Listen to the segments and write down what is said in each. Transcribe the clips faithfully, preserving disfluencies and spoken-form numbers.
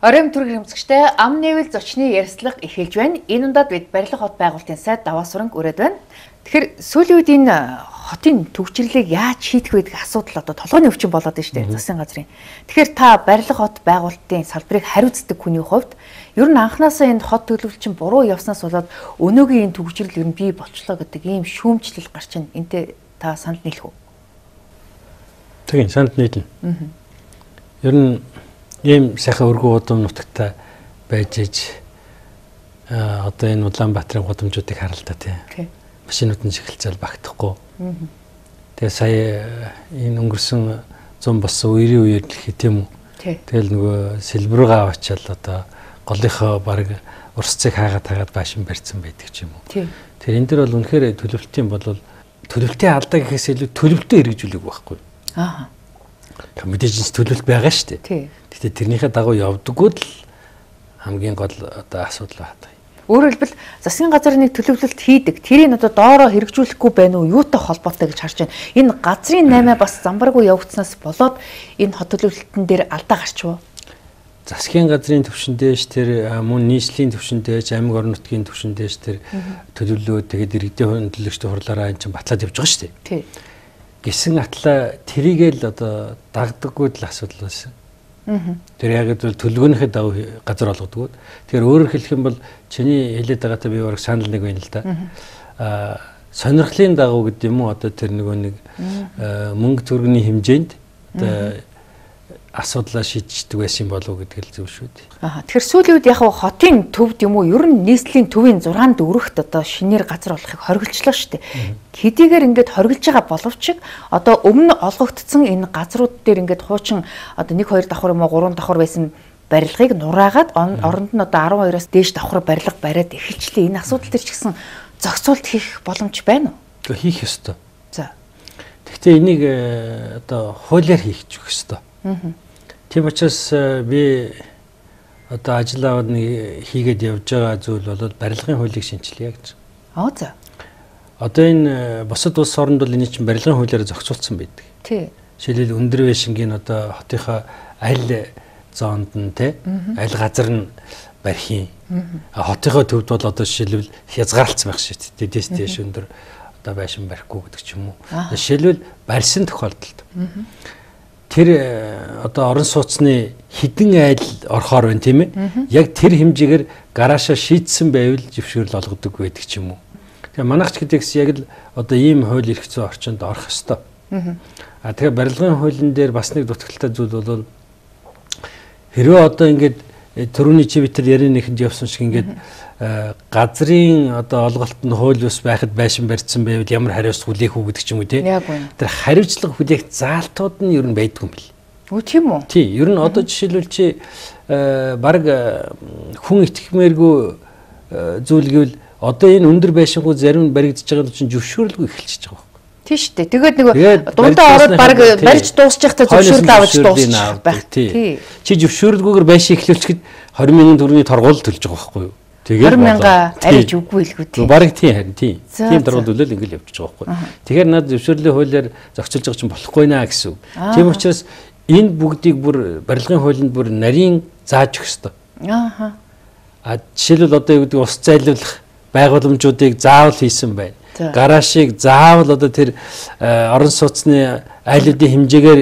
Оройн төрг хэмжигчтэй ам нэвэл зочны ярьслага эхэлж байна. Энэ ундаад бид барилга хот байгуулалтын сайд даваа суранг өрөөд байна. Тэгэхээр сүүлийн үед энэ хотын төвчрлийг яаж шийдэх вэ гэх асуудал одоо толгойн өвчин болоод байна шүү дээ. Засгийн газрын. Тэгэхээр та барилга хот байгуулалтын салбарыг хариуцдаг хүний хувьд ер нь анханасаа энэ хот төлөвлөлчин буруу явснаас болоод өнөөгийн энэ төвчрэл ер нь бий болчлоо гэдэг ийм шүүмжлэл гарч ин энтэй та санал нийлэх үү? Тийм санал нийлнэ. Ер нь ийм сайхан өргөн удам нутагтай байж иж одоо энэ Улаанбаатарын гудамжуудыг харалта тий. Машинууд нь шигэлцэл багтахгүй. Тэгээ сая энэ өнгөрсөн зам болсон үерийн үеэр дэлхий тийм үү. Тэгэл нөгөө сэлбэргээ аваачаал одоо голынхоо баг урсцыг хаагаад хаагаад баашин барьсан байдаг ч юм уу. Тэр энэ дэр бол үнэхээр төлөвлөлтийн бол төлөвлөлтийн алдаа гэхээс илүү төлөвлөлтөө хэрэгжүүлэх байхгүй. Аа. Мэдээж төлөвлөлт байгаа шүү дээ. Гэтэ тэрнийхээ дагуу явдаггүй л хамгийн гол одоо асуудал байна. Өөрөөр хэлбэл засгийн газар нэг төлөвлөлт хийдэг. Тэрийг одоо доороо хэрэгжүүлэхгүй байна уу? Юутай холбоотой гэж харж байна. Энэ газрын наймаа бас замбаргүй явагдсанаас болоод энэ хот төлөвлөлтөн дээр алдаа гарчв. Засгийн газрын төвшөндөөш тэр мөн нийслэлийн төвшөндөөш аймаг орон нутгийн төвшөндөөш тэр төлөвлөлөө тэгээд иргэдийн хөндлөгчтэй хурлаараа энэ чинь батлаад явж байгаа шүү дээ. Тий. Гисэн атла тэрийгэл одоо дагдаггүй л асуудал байсан. Тэр яг л төлөвлөгөөнийхөө дагуу газар олгодог. Тэгэхээр өөрөөр хэлэх юм бол чиний хэлээд байгаатай би бараг санал нэг байна л да. Аа сонирхлын дагуу гэдэг юм уу одоо тэр нөгөө нэг мөнгө төгрөгийн хэмжээнд одоо асуудлаа шийдчихдэг байсан болов уу гэдэг л зөв шүү дээ. Аа тэгэхээр сүүлийн үед яг хотын төвд юм уу ер нь нийслэлийн төвийн зургаанд өрөхт одоо шинээр газар олохыг хориглочлоо шүү дээ. Хэдийгээр ингээд хориглож байгаа боловч одоо өмнө олгогдсон энэ газрууд дээр ингээд хуучин одоо нэг хоёр давхар юм уу гурван давхар байсан барилгыг нураагаад оронд нь одоо арван хоёроос дээш давхар барилга бариад эхэлчлээ. Энэ асуудал төр ч гэсэн зохицуулт хийх боломж байна уу? Гэхдээ хийх ёстой. За. Гэхдээ энийг одоо хуулиар хийх ч ёстой. Тийм учраас би одоо ажил аваад нэг хийгээд явж байгаа зүйл бол барилгын хуулийг шинжилье гэж. Аа за. Одоо энэ бусад улс орнд бол энэ чинь барилгын хуулиар зохицуулсан байдаг. Тий. Жишээлбэл өндөр байшингийн одоо хотынхаа аль зоонд нь те аль газар нь барих юм. Хотынхаа төвд бол одоо жишээлбэл хязгаарлалцсан байх шүү дээ. Дэс дэш өндөр одоо байшин барихгүй гэдэг ч юм уу. Жишээлбэл барьсан тохиолдолд тэр одоо орон сууцны хідэн айл орохоор байна тийм ээ. Яг тэр хэмжээгээр гараашаа шийдсэн байвал зөвшөөрөл олгодог байдаг ч юм уу. Тэгээ манайч гэдэгс яг л одоо ийм хууль эрх зүйн орчинд орох ёстой. А тэгээ барилгын хуулийн дээр бас нэг дутагдaltaй зүйл бол хэрвээ одоо ингээд төрөний чи битэр ярианыхэнд явсан шиг ингээд газрын одоо олголт нь хууль ус байхад байшин барьсан байвал ямар хариуцлага хүлээх үү гэдэг ч юм уу тий. Тэр хариуцлага хүлээх заалтууд нь ер нь байдгүй юм бэл. Үгүй тийм үү? Тий, ер нь одоо жишээлбэл чи баг хүн итгэхмээргүй зүйл гэвэл одоо энэ өндөр байшингууд зарим нь баригдаж байгаа чинь зөвшөөрлгүй эхэлчихэж байгаа. Тий шүү дээ. Тэгээд нөгөө дундаа ороод баг барьж дуусчих та зөвшөөрөл авч дуусчих байх. Тий. Чи зөвшөөрлгүйгээр байшин эхлүүлчихэд двадцать мянган төгрөгийн торгуул төлж байгаа байхгүй юу? Тэгээд двадцать мянга ариж үгүй л гү тий. Бараг тийм харин тийм. Тийм торгуулөл ингээл явчихж байгаа байхгүй. Тэгэхээр над зөвшөөрлийн хуулиар зохицуулж байгаа чинь болохгүй наа гэсэн үг. Тийм учраас энэ бүгдийг бүр барилгын хуулинд бүр нарийн зааж өгөх ёстой. Ааха. А жишээлбэл одоо юу гэдэг ус зайлуулах байгууламжуудыг заавал хийсэн байна. Гараашийг заавал одоо тэр орон сууцны айлуудын хэмжээгээр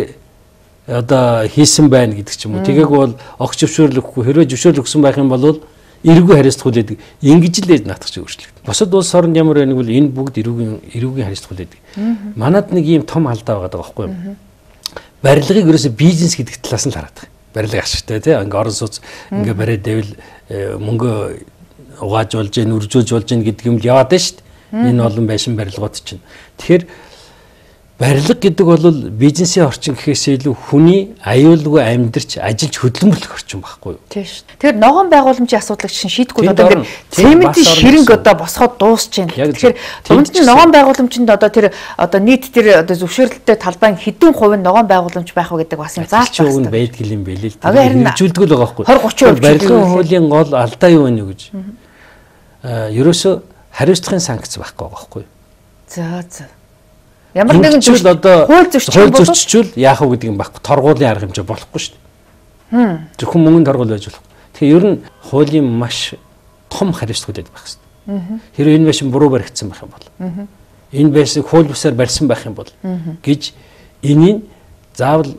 одоо хийсэн байна гэдэг ч юм уу. Тэгээг бол огч зөвшөөрөл өгөхгүй. Хэрвээ зөвшөөрөл өгсөн байх юм бол эрүүгийн хариуцлага хүлээдэг. Ингэж л ээж наатах чинь өөрчлөгдөн. Босод улс орнд ямар байныг бол энэ бүгд эрүүгийн эрүүгийн хариуцлага хүлээдэг. Манад нэг ийм том алдаа байгаа байхгүй юу? Барилгыг ерөөсө бизнес гэдэг талаас нь л хараад байгаа. Барилга ашигтай тий. Ингээ орон сууц ингээ бариад байвал мөнгө угааж болж, нүржүүлж болж гэдэг юм л яваад байна шүү дээ. Энэ олон байшин барилгууд чинь. Тэгэхээр барилга гэдэг бол бизнесийн орчин гэхээс илүү хүний аюулгүй амьдарч ажиллаж хөдөлмөрлөх орчин байхгүй юу? Тийм шүү. Тэгэхээр ногоон байгууламжийн асуудлыг чинь шийдэхгүй одоо цементийн ширэнг одоо босгоод дуусч байна. Тэгэхээр дунд нь ногоон байгууламжинд одоо тэр одоо нийт тэр одоо зөвшөөрлөлтөй талбайн хэдэн хувь нь ногоон байгууламж байх вэ гэдэг бас юм заалт байна. Зөвхөн байдаг юм билээ л. Хэрэгжүүлдэг л байгаа байхгүй юу? двадцать тридцать барилгын хуулийн гол алдаа юу вэ гэж? Аа, ерөөсө хариуцлагын санкц байхгүй байгаа байхгүй юу? За за. Ямар нэгэн зүйл одоо хууль зөрчижүүл яах вэ гэдэг юм байхгүй. Торгуулийн арга хэмжээ болохгүй шүү дээ. Зөвхөн мөнгөнд торгуул байж болох. Тэгэхээр ер нь хуулийн маш том хариуцлагууд байх хэрэгтэй. Хэрэв энэ байшин буруу баригдсан байх юм бол энэ байшин хууль бусаар барьсан байх юм бол гэж энийг заавал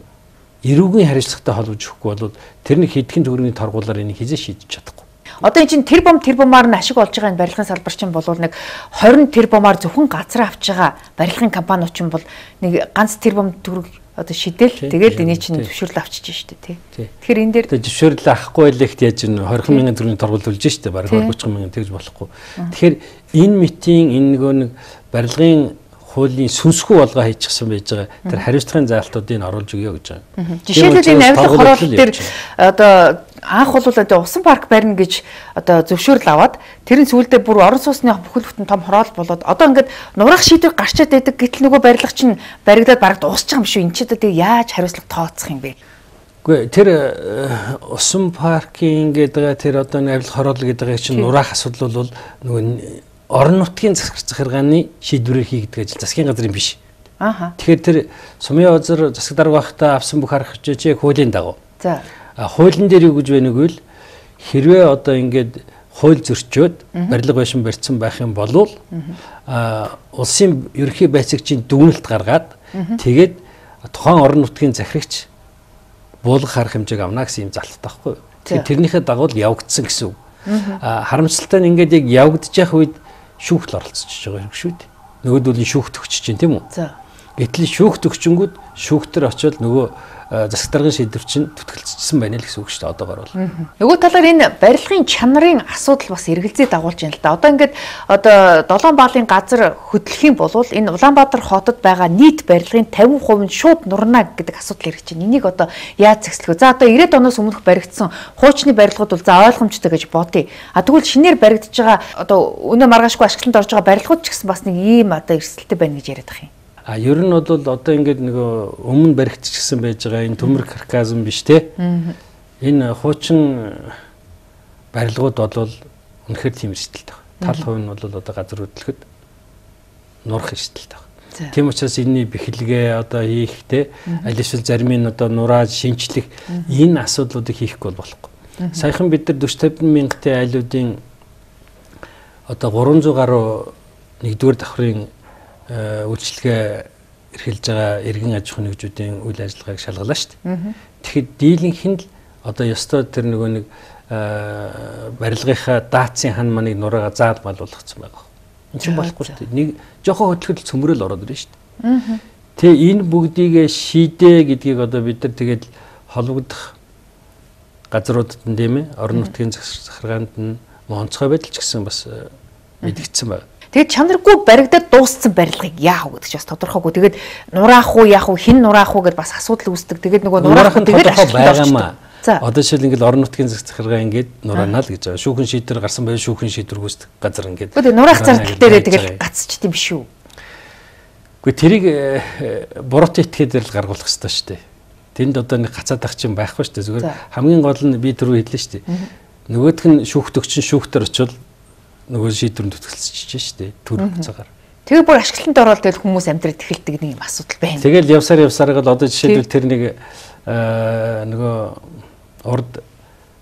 эрүүгийн хариуцлагатай холбож өгөхгүй бол тэрний хэдхэн төгрөгийн торгуулаар энийг хизээ шийдэж чадахгүй. Одоо энэ чинь тэр бом тэр бомаар нь ашиг олж байгаа энэ барилгын салбар чинь бол нэг тwenty тэр бомаар зөвхөн газар авч байгаа барилгын компаниуд чинь бол нэг ганц тэр бом төгрөг одоо шидэл тэгээд энийг чинь зөвшөөрөл авчиж штэ тий. Тэгэхээр энэ дээр зөвшөөрөл авахгүй байлэгт яаж н twenty мянган төгрөгийн торгуул үлж штэ бараг thirty мянган тэгж болохгүй. Тэгэхээр энэ митийн энэ нөгөө нэг барилгын хуулийн сүнсгүй болгоо хийчихсэн байж байгаа тэр хариуцлагын заалтуудыг оруулж өгье гэж байгаа. Жишээлбэл энэ авилга хороолол дээр одоо анх бол одоо усан парк барина гэж одоо зөвшөөрөл аваад тэрийн сүүлдээ бүр орон сууцны бүхэл бүтэн том хороол болоод одоо ингээд нурах шийдвэр гарчаад байдаг гэтэл нөгөө барилга чинь баригдаад бараг дуусчих юм шүү. Энд чи одоо тэг яаж хариуцлага тооцох юм бэ? Үгүй тэр усан паркинг гэдэг тэр одоо авилга хороол гэдэг чинь нурах асуудал бол нөгөө орон нутгийн засаг захиргааны шийдвэрээр хийгдэг ажил засгийн газрын биш. Ааха. Тэгэхээр тэр Сумын озер засаг дарга байхдаа авсан бүх арга хэмжээ хуулийн дагуу. За. А хуулийн дээр юу гэж байна гэвэл хэрвээ одоо ингээд хууль зөрчөөд барилга байшин барьсан байх юм бол а улсын ерөнхий байцаагчийн дүгнэлт гаргаад тэгээд тухайн орон нутгийн захирагч буулгах арга хэмжээг авна гэсэн юм залттай байхгүй. Тэгэхээр тэрнийхээ дагуу л явагдсан гэсэн үг. А харамсалтай нь ингээд яг явагдаж явах үед шүүхт оролцож байгаа юм шүү дээ. Нөгөөдөл нь шүүхт өгч чинь тийм үү? За. Гэтэл шүүхт өгчөнгүүд шүүхтэр очиод нөгөө засаг даргын шийдвэр чинь түтгэлцсэн байна л гэсэн үг шүү дээ одоогоор бол. Нөгөө талаар энэ барилгын чанарын асуудал бас эргэлзээ дагуулж байна л да. Одоо ингээд одоо долоон баалын газар хөдлөх юм бол энэ Улаанбаатар хотод байгаа нийт барилгын fifty percent нь шууд нурна гэдэг асуудал ирж байна. Энийг одоо яаж зэгслэх вэ? За одоо ninety оноос өмнөх баригдсан хуучны барилгууд бол за ойлгомжтой гэж бодъё. А тэгвэл шинээр баригдаж байгаа одоо өнөө маргаашгүй ашиглалтанд орж байгаа барилгууд ч гэсэн бас нэг ийм одоо эрсдэлтэй байна гэж яриад байгаа юм. А ер нь бол одоо ингээд нөгөө өмнө баригдчихсан байж байгаа энэ төмөр карказм биш те. Энэ хуучин барилгууд бол үнэхээр тийм эрсдэлтэй байна. Тал хувь нь бол одоо газар хөдлөхөд нурах эрсдэлтэй байна. Тийм учраас энэний бэхлэгээ одоо хийх те аль эсвэл зарим нь одоо нураад шинчлэх энэ асуудлуудыг хийхгүй болохгүй. Саяхан бид нар forty fifty мянгатын айлуудын одоо three hundred гаруй нэгдүгээр давхрын үйлчлэгээ эрхэлж байгаа эргэн аж ахуйн нэгжүүдийн үйл ажиллагааг шалгалаа шүү дээ. Тэгэхэд дийлэнх нь л одоо ёстой тэр нөгөө нэг барилгынхаа даацын хан маныг нураагаа заал мал болгоцсон байгаа. Энэ чинь болохгүй шүү дээ. Нэг жоохон хөдөлгөл цөмрөл ороод ирнэ шүү дээ. Тэгээ энэ бүгдийг шийдэ гэдгийг одоо бид нар тэгээд холбогдох газруудад нь тийм ээ орон нутгийн захиргаанд нь онцгой байдал ч гэсэн бас мэдгдсэн байна. Тэгээд чанаргүй баригдаад дууссан барилгыг яах вэ гэж бас тодорхойгүй. Тэгээд нураах уу яах уу хин нураах уу гэдээ бас асуудал үүсдэг. Тэгээд нөгөө нураах нь тэгээд ашиглаж байгаа. Одоо жишээл ингээд орон нутгийн засаг захиргаа ингээд нураана л гэж байгаа. Шүүхэн шийдвэр гарсан байл шүүхэн шийдвэр гүйцэтгэх газар ингээд. Тэгээд нураах зардал дээрээ тэгээд гацчихдээ биш үү? Гэхдээ тэрийг буруутай этгээд л гаргуулах хэрэгтэй шүү дээ. Тэнд одоо нэг гацаад ах чинь байхгүй шүү дээ. Зүгээр хамгийн гол нь би түрүү хэллээ шүү дээ. Нөгөөх нь шүүхт өгчин шүүхтэр очивол нөгөө шийдвэрэнд төтгөлцөж штэ төр цагаар. Тэгээ бүр ашиглалтанд ороод тэгэл хүмүүс амьдраад эхэлдэг нэг юм асуудал байна. Тэгэл явсаар явсаар гал одоо жишээлбэл тэр нэг нөгөө урд one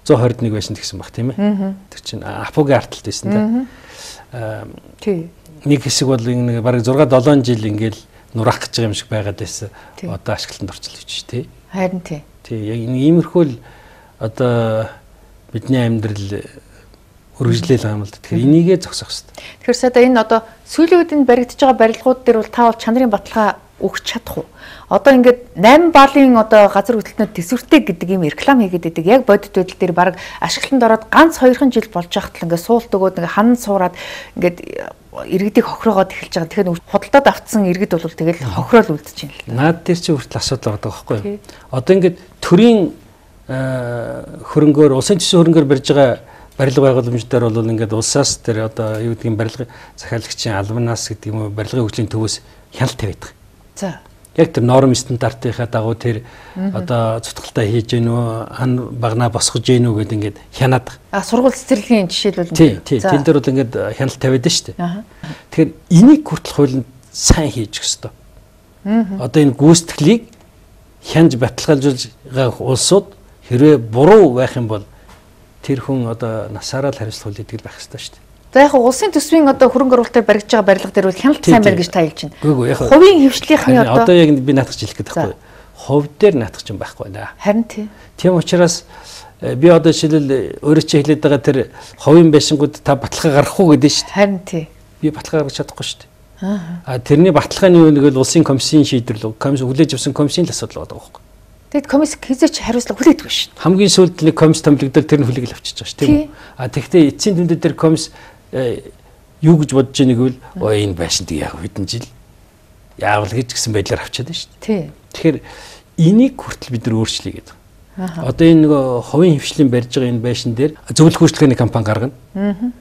twenty one байшин гэсэн баг тийм ээ. Тэр чинь Апогийн арталт байсан да. Тий. Нэг хэсэг бол нэг бараг six seven жил ингээл нурах гэж байгаа юм шиг байгаад байсан. Одоо ашиглалтанд орчихлоо гэж тий. Харин тий. Тий яг иймэрхүү л одоо бидний амьдрал үргэлжлээл байгаа юм л да. Тэгэхээр энийгээ зогсоох хэрэгтэй. Тэгэхээр сая энэ одоо сүүлийн үед энэ баригдаж байгаа барилгууд дээр бол та бол чанарын баталгаа өгч чадах уу? Одоо ингээд eight баалын одоо газар хөдлөлтөнд төсвөртэй гэдэг юм реклам хийгээд байдаг. Яг бодит байдал дээр баг ашиглалтанд ороод ганц хоёрхан жил болж байхад л ингээд суулт өгөөд ингээд ханан суураад ингээд иргэдийг хохироогоод эхэлж байгаа. Тэгэхээр худалдаад автсан иргэд бол тэгэл хохироол үлдэж байна л. Наад дээр чи хүртэл асуудал байгаа байхгүй юу? Одоо ингээд төрийн хөрөнгөөр улсын төсвийн хөрөнгөөр барьж байгаа барилга байгууламждаар бол ингээд улсаас тэр одоо юу гэдгийг барилгын захиалагчийн албанаас гэдэг юм уу барилгын хөгжлийн төвөөс хяналт тавиадаг. За. Яг тэр норм стандартынхаа дагуу тэр одоо цутгалтаа хийж гэнэ үү, хан багнаа босгож гэнэ үү гэдэг ингээд хянаад. А сургууль цэцэрлэгийн жишээлбэл тий, тий. Тэн дээр бол ингээд хяналт тавиад нь шүү дээ. Тэгэхээр энийг хүртэл хуулинд сайн хийж өгөх ёстой. Одоо энэ гүйцэтгэлийг хянж баталгаажуулж байгаа улсууд хэрвээ буруу байх юм бол тэр хүн одоо насаараа л хариуцлага хүлээдэг байх хэрэгтэй шүү дээ. За яг улсын төсвийн одоо хөрөнгө оруулалтаар баригдаж байгаа барилга дээр бол хяналт сайн байна гэж та хэлж байна. Үгүй яг хувийн хвшлийнхны одоо одоо яг би наатах хэлэх гээд байхгүй. Хувь дээр наатах юм байхгүй наа. Харин тийм. Тийм учраас би одоо жишээлбэл өөрөө чи хэлээд байгаа тэр хувийн байшингууд та баталгаа гаргах уу гэдэг шүү дээ. Харин тийм. Би баталгаа гаргаж чадахгүй шүү дээ. Аа тэрний баталгааны юу нэг л улсын комиссийн шийдвэрлэл комисс хүлээж авсан комиссийн л асуудал байгаа байхгүй. Тэгэд комисс хизээч хариуцлага хүлээдэг шүү дээ. Хамгийн сүүлд нэг комисс томлогдол тэр нь хүлээгэл авчиж байгаа шүү тийм үү. Аа тэгэхдээ эцсийн дүндээ тэр комисс юу гэж бодож байгааг бол оо энэ байшинт яг хэдэн жил яавал гэж гисэн байдлаар авчиад байна шүү дээ. Тийм. Тэгэхээр энийг хүртэл бид нар өөрчлөе гэдэг. Одоо энэ нөгөө хувийн хвшлийн барьж байгаа энэ байшин дээр зөвлөх үйлчлэгээний компани гаргана.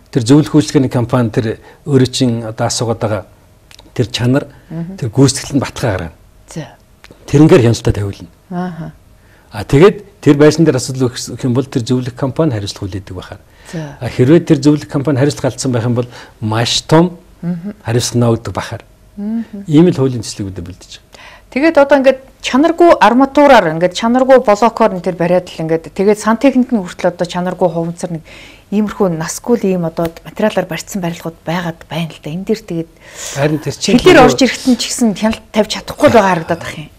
Тэр зөвлөх үйлчлэгээний компани тэр өөрөө чин одоо асуугаад байгаа тэр чанар тэр гүйцэтгэл нь баталгаа гаргана. За. Тэрнгээр хяналтаа тавиулна. Аа. А тэгээд тэр байшин дээр асуудал өгөх юм бол тэр зөвлөх компани хариуцлага хүлээдэг байхаар. За. Хэрвээ тэр зөвлөх компани хариуцлага алдсан байх юм бол маш том хариуцлага өгдөг байхаар. Ийм л хуулийн төслийг үүдэ бэлдэж байгаа. Тэгээд одоо ингээд чанаргүй арматураар ингээд чанаргүй блокоор нь тэр бариад л ингээд тэгээд сантехник нь хүртэл одоо чанаргүй хуванцар нэг иймэрхүү насгүй л ийм одоо материалаар барьсан барилгууд байгаад байна л да. Энэ дээр тэгээд харин тэр чинь хилээр орж ирэхэд нь ч гэсэн хяналт тавьж чадахгүй л байгаа харагдаад байх юм.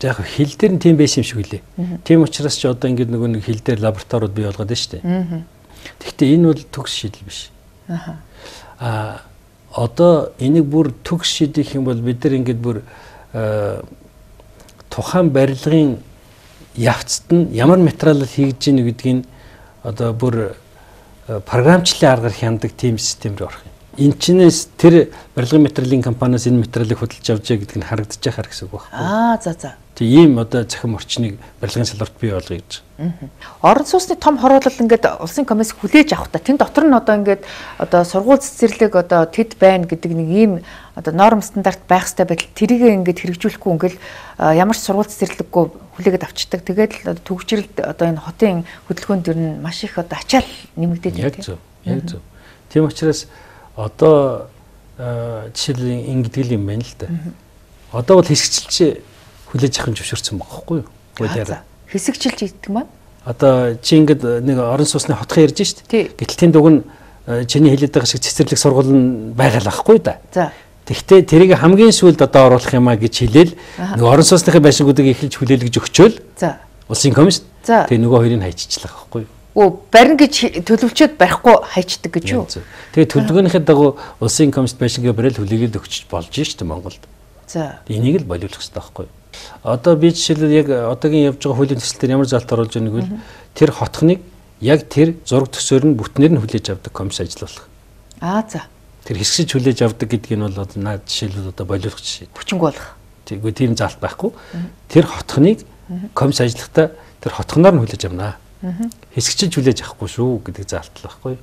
За яг хил дээр нь тийм байсан юм шиг үлээ. Тийм учраас ч одоо ингээд нөгөө нэг хил дээр лабораториуд бий болгоод байна шүү дээ. Тэгэхдээ энэ бол төгс шийдэл биш. Аа. А одоо энийг бүр төгс шийдэх юм бол бид нар ингээд бүр тухайн барилгын явцад нь ямар материалаар хийж гин гэдгийг одоо бүр програмчлалын аргаар хяндаг тийм систем рүү орох юм. Энд чинээс тэр барилгын материалын компаниас энэ материалыг худалдаж авчаа гэдэг нь харагдаж байгаа гэсэн үг байна. Аа за за. Тэг ийм одоо захим орчныг барилгын салбарт бий болгоё гэж. Орон сууцны том хороолол ингээд улсын комисс хүлээж авах та тэн дотор нь одоо ингээд одоо сургууль цэцэрлэг одоо тэд байна гэдэг нэг ийм одоо норм стандарт байх хэрэгтэй байтал тэрийг ингээд хэрэгжүүлэхгүй ингээл ямар ч сургууль цэцэрлэггүй хүлээгээд авчдаг. Тэгээд л төгжрэлд одоо энэ хотын хөдөлгөөнд дэр нь маш их одоо ачаал нэмэгдээд байна. Яг зөв. Яг зөв. Тийм учраас одоо жишээлбэл ингэдэг юм байна л да. Одоо бол хэсэгчилж хүлээж авах юм зөвшөөрсөн байгаа байхгүй юу? Хуулиараа. Хэсэгчилж идэх маань? Одоо чи ингээд нэг орон сууцны хотхон ярьж штт. Гэтэл тэнд уг нь чиний хэлээд байгаа шиг цэцэрлэг сургууль нь байгаа л байхгүй да. За. Тэгвэл тэрийг хамгийн сүүлд одоо оруулах юмаа гэж хэлээл нэг орон сууцны байшингуудыг эхэлж хүлээлгэж өгчөөл. За. Улсын комисс. Тэгээ нөгөө хоёрыг хайчичлах байхгүй юу? Оо барин гэж төлөвчөд барихгүй хайчдаг гэж юу? Тэгээ төлөвлөгөөнийхээ дагуу улсын комисс байшингаа барил хүлээгээд өгч болж штт Монголд. За. Энийг л болиулах хэрэгтэй байхгүй юу? Одоо би жишээлбэл яг одоогийн явж байгаа хуулийн төсөл дээр ямар залт оруулж байгааг бол тэр хотхныг яг тэр зураг төсөөр нь бүтнээр нь хүлээж авдаг комисс ажиллуулах. Аа за. Тэр хэсгэж хүлээж авдаг гэдгийг нь бол одоо наад жишээлбэл одоо болиулах жишээ. Хүчинг болох. Тэгвэл тийм залт байхгүй. Тэр хотхныг комисс ажиллахдаа тэр хотхноор нь хүлээж авнаа. Хэсгэж хүлээж авахгүй шүү гэдэг залт л байхгүй.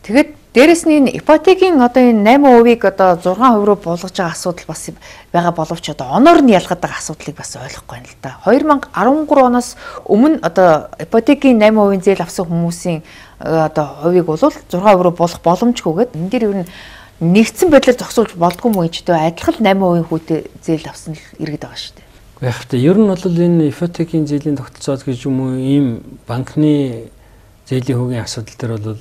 Тэгээд дээрэс нь ипотекийн одоо энэ восемь хувийг одоо зургаан хувь руу болгож байгаа асуудал бас байгаа боловч одоо оноор нь ялгаад байгаа асуудлыг бас ойлгохгүй байна л да. две тысячи десять оноос өмнө одоо ипотекийн восемь хувийн зээл авсан хүмүүсийн одоо хувийг бол зургаан хувь руу болох боломжгүйгээд энэ дээр ер нь нэгдсэн байдлаар зогсуулж болдгүй мүү ч гэдэг адилхан восемь хувийн хүүтэй зээл авсан л иргэд байгаа шүү дээ. Яг та ер нь бол энэ ипотекийн зээлийн тогтолцоо гэж юм уу ийм банкны зээлийн хүүгийн асуудал дээр бол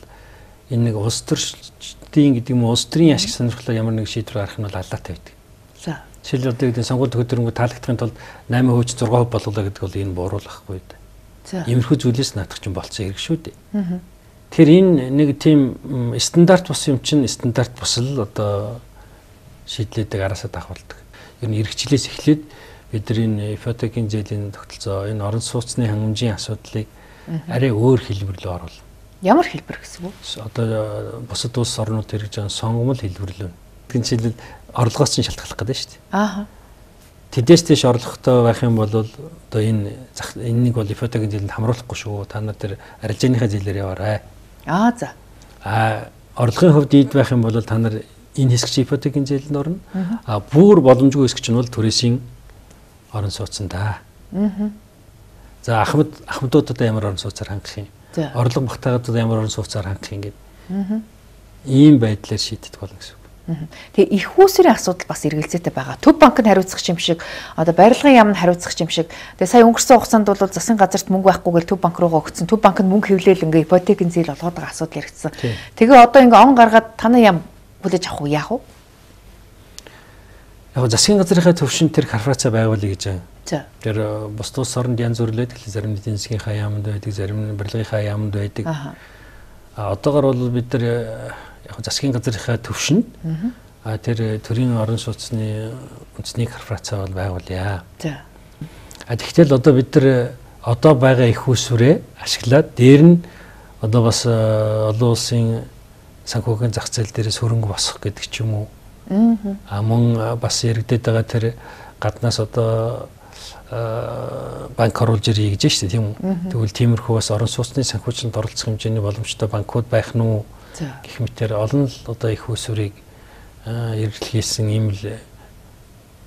энэ нэг улс төрийн гэдэг юм уу улс төрийн ашиг сонирхлоо ямар нэг шийдвэр гаргах нь бол алаатай байдаг. За. Жишээлбэл одоо гэдэг сонгуульд хөдөлгөөнгөө таалагдахын тулд восемь хувь ч зургаан хувь болголоо гэдэг бол энэ бууруулахгүй да. За. Иймэрхүү зүйлээс наадах чинь болцсон хэрэг шүү дээ. Аа. Тэгэхээр энэ нэг тийм стандарт бус юм чинь стандарт бус л одоо шийдлээдэг араасаа давхуулдаг. Ер нь эрхчлээс эхлээд бид нар энэ ипотекийн зээлийн тогтолцоо энэ орон сууцны хангамжийн асуудлыг арай өөр хэлбэр рүү оруулах. Ямар хэлбэр гэсэн үг? Одоо бусад улс орнууд хэрэгж байгаа сонгомл хэлбэрлэл. Тэгвэл жишээлбэл орлогоос чинь шалтгаалах гэдэг шүү дээ. Аа. Тэдээс тийш орлоготой байх юм бол одоо энэ энэнийг бол ипотекийн зээлэнд хамруулахгүй шүү. Та нар тэр арилжааныхаа зээлээр яваарай. Аа за. Аа орлогын хувьд ийд байх юм бол та нар энэ хэсэг ипотекийн зээлэнд орно. Аа бүр боломжгүй хэсэг чинь бол түрээсийн орон сууцсан да. Аа. За ахмад ахмадуудад ямар орон сууцаар хангах юм? Орлого багтаагаад ямар орон сууцаар хангах юм гээд. Аа. Ийм байдлаар шийддэг болно гэсэн үг. Тэгээ их үүсвэрийн асуудал бас эргэлзээтэй байгаа. Төв банкнд хариуцах юм шиг, одоо барилгын яамд хариуцах юм шиг. Тэгээ сая өнгөрсөн хугацаанд бол засгийн газарт мөнгө байхгүйгээр төв банк руугаа өгсөн. Төв банкнд мөнгө хэвлээл ингээ ипотекийн зээл олгоод байгаа асуудал яригдсан. Тэгээ одоо ингээ он гаргаад танаа яам хүлээж авах уу яах вэ? Яг засгийн газрынхаа төвшин тэр корпорац байгуулъя гэж байна. За. Тэр бус тус оронд янз бүрlээд зарим нь эдийн засгийнхаа яамд байдаг, зарим нь барилгынхаа яамд байдаг. А одоогор бол бид нар яг засгийн газрынхаа төвшөнд а тэр төрийн орон сууцны үндэсний корпорацаа бол байгуулъя. За. А тэгтэл одоо бид нар одоо байгаа их усүрээ ашиглаад дээр нь одоо бас олон улсын санхүүгийн зах зээл дээрээс хөрөнгө босгох гэдэг ч юм уу. А мөн бас яригдээд байгаа тэр гаднаас одоо банк оруулж ирье гэж шүү дээ тийм үү. Тэгвэл тиймэрхүү бас орон сууцны санхүүжилтанд оролцох хэмжээний боломжтой банкуд байх нь уу гэх мэтээр олон л одоо их усүрийг эргэлхийлсэн ийм л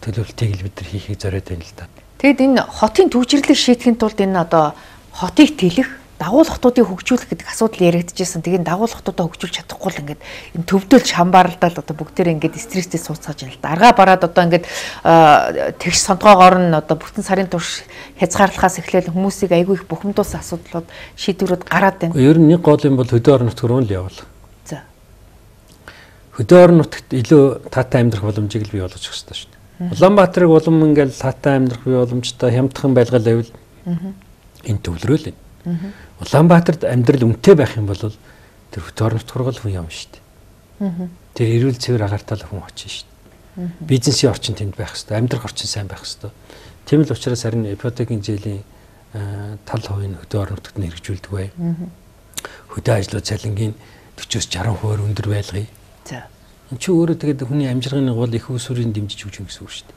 төлөвлөлтийг л бид нар хийхийг зориод байна л да. Тэгэд энэ хотын төвчрлийг шийдэхин тулд энэ одоо хотыг тэлэх, дагуулгатуудыг хөгжүүлэх гэдэг асуудал яригдчихсэн. Тэгээд дагуулгатуудаа хөгжүүлж чадахгүй л ингээд энэ төвдөлж хамбаарлал одоо бүгдээрээ ингээд стресстэй сууцгааж байна л да. Аргаа бараад одоо ингээд тэгш сонгоогоор нь одоо бүтэн сарын турш хязгаарлахаас эхлээл хүмүүсийг айгүй их бухимдуулсан асуудлууд шийдвэрүүд гараад байна. Ер нь нэг гол юм бол хөдөө орон нутг руу л явуул. За. Хөдөө орон нутагт илүү таатай амьдрах боломжийг л бий болгож өгөх хэрэгтэй шүү дээ. Улаанбаатарыг улам ингээд таатай амьдрах бий боломжтой хямдхан байлгал байвал энэ төвлөрөөл юм. Улаанбаатарт амьдрал үнэтэй байх юм бол тэр хөдөө орон нутг руу л хүн явна шүү дээ. Тэр эрүүл цэвэр агартал хүн очино шүү дээ. Бизнесийн орчин тэнд байх хэрэгтэй, амьдрах орчин сайн байх хэрэгтэй. Тийм л учраас харин ипотекийн зээлийн тал хувийн хөдөө орон нутагт нь хэрэгжүүлдэг бай. Хөдөө ажлууд цалингийн forty-с sixty хувиар өндөр байлгая. За. Энд чи өөрөө тэгээд хүний амжирганы гол их усүрийн дэмжиж өгч юм гэсэн үг шүү дээ.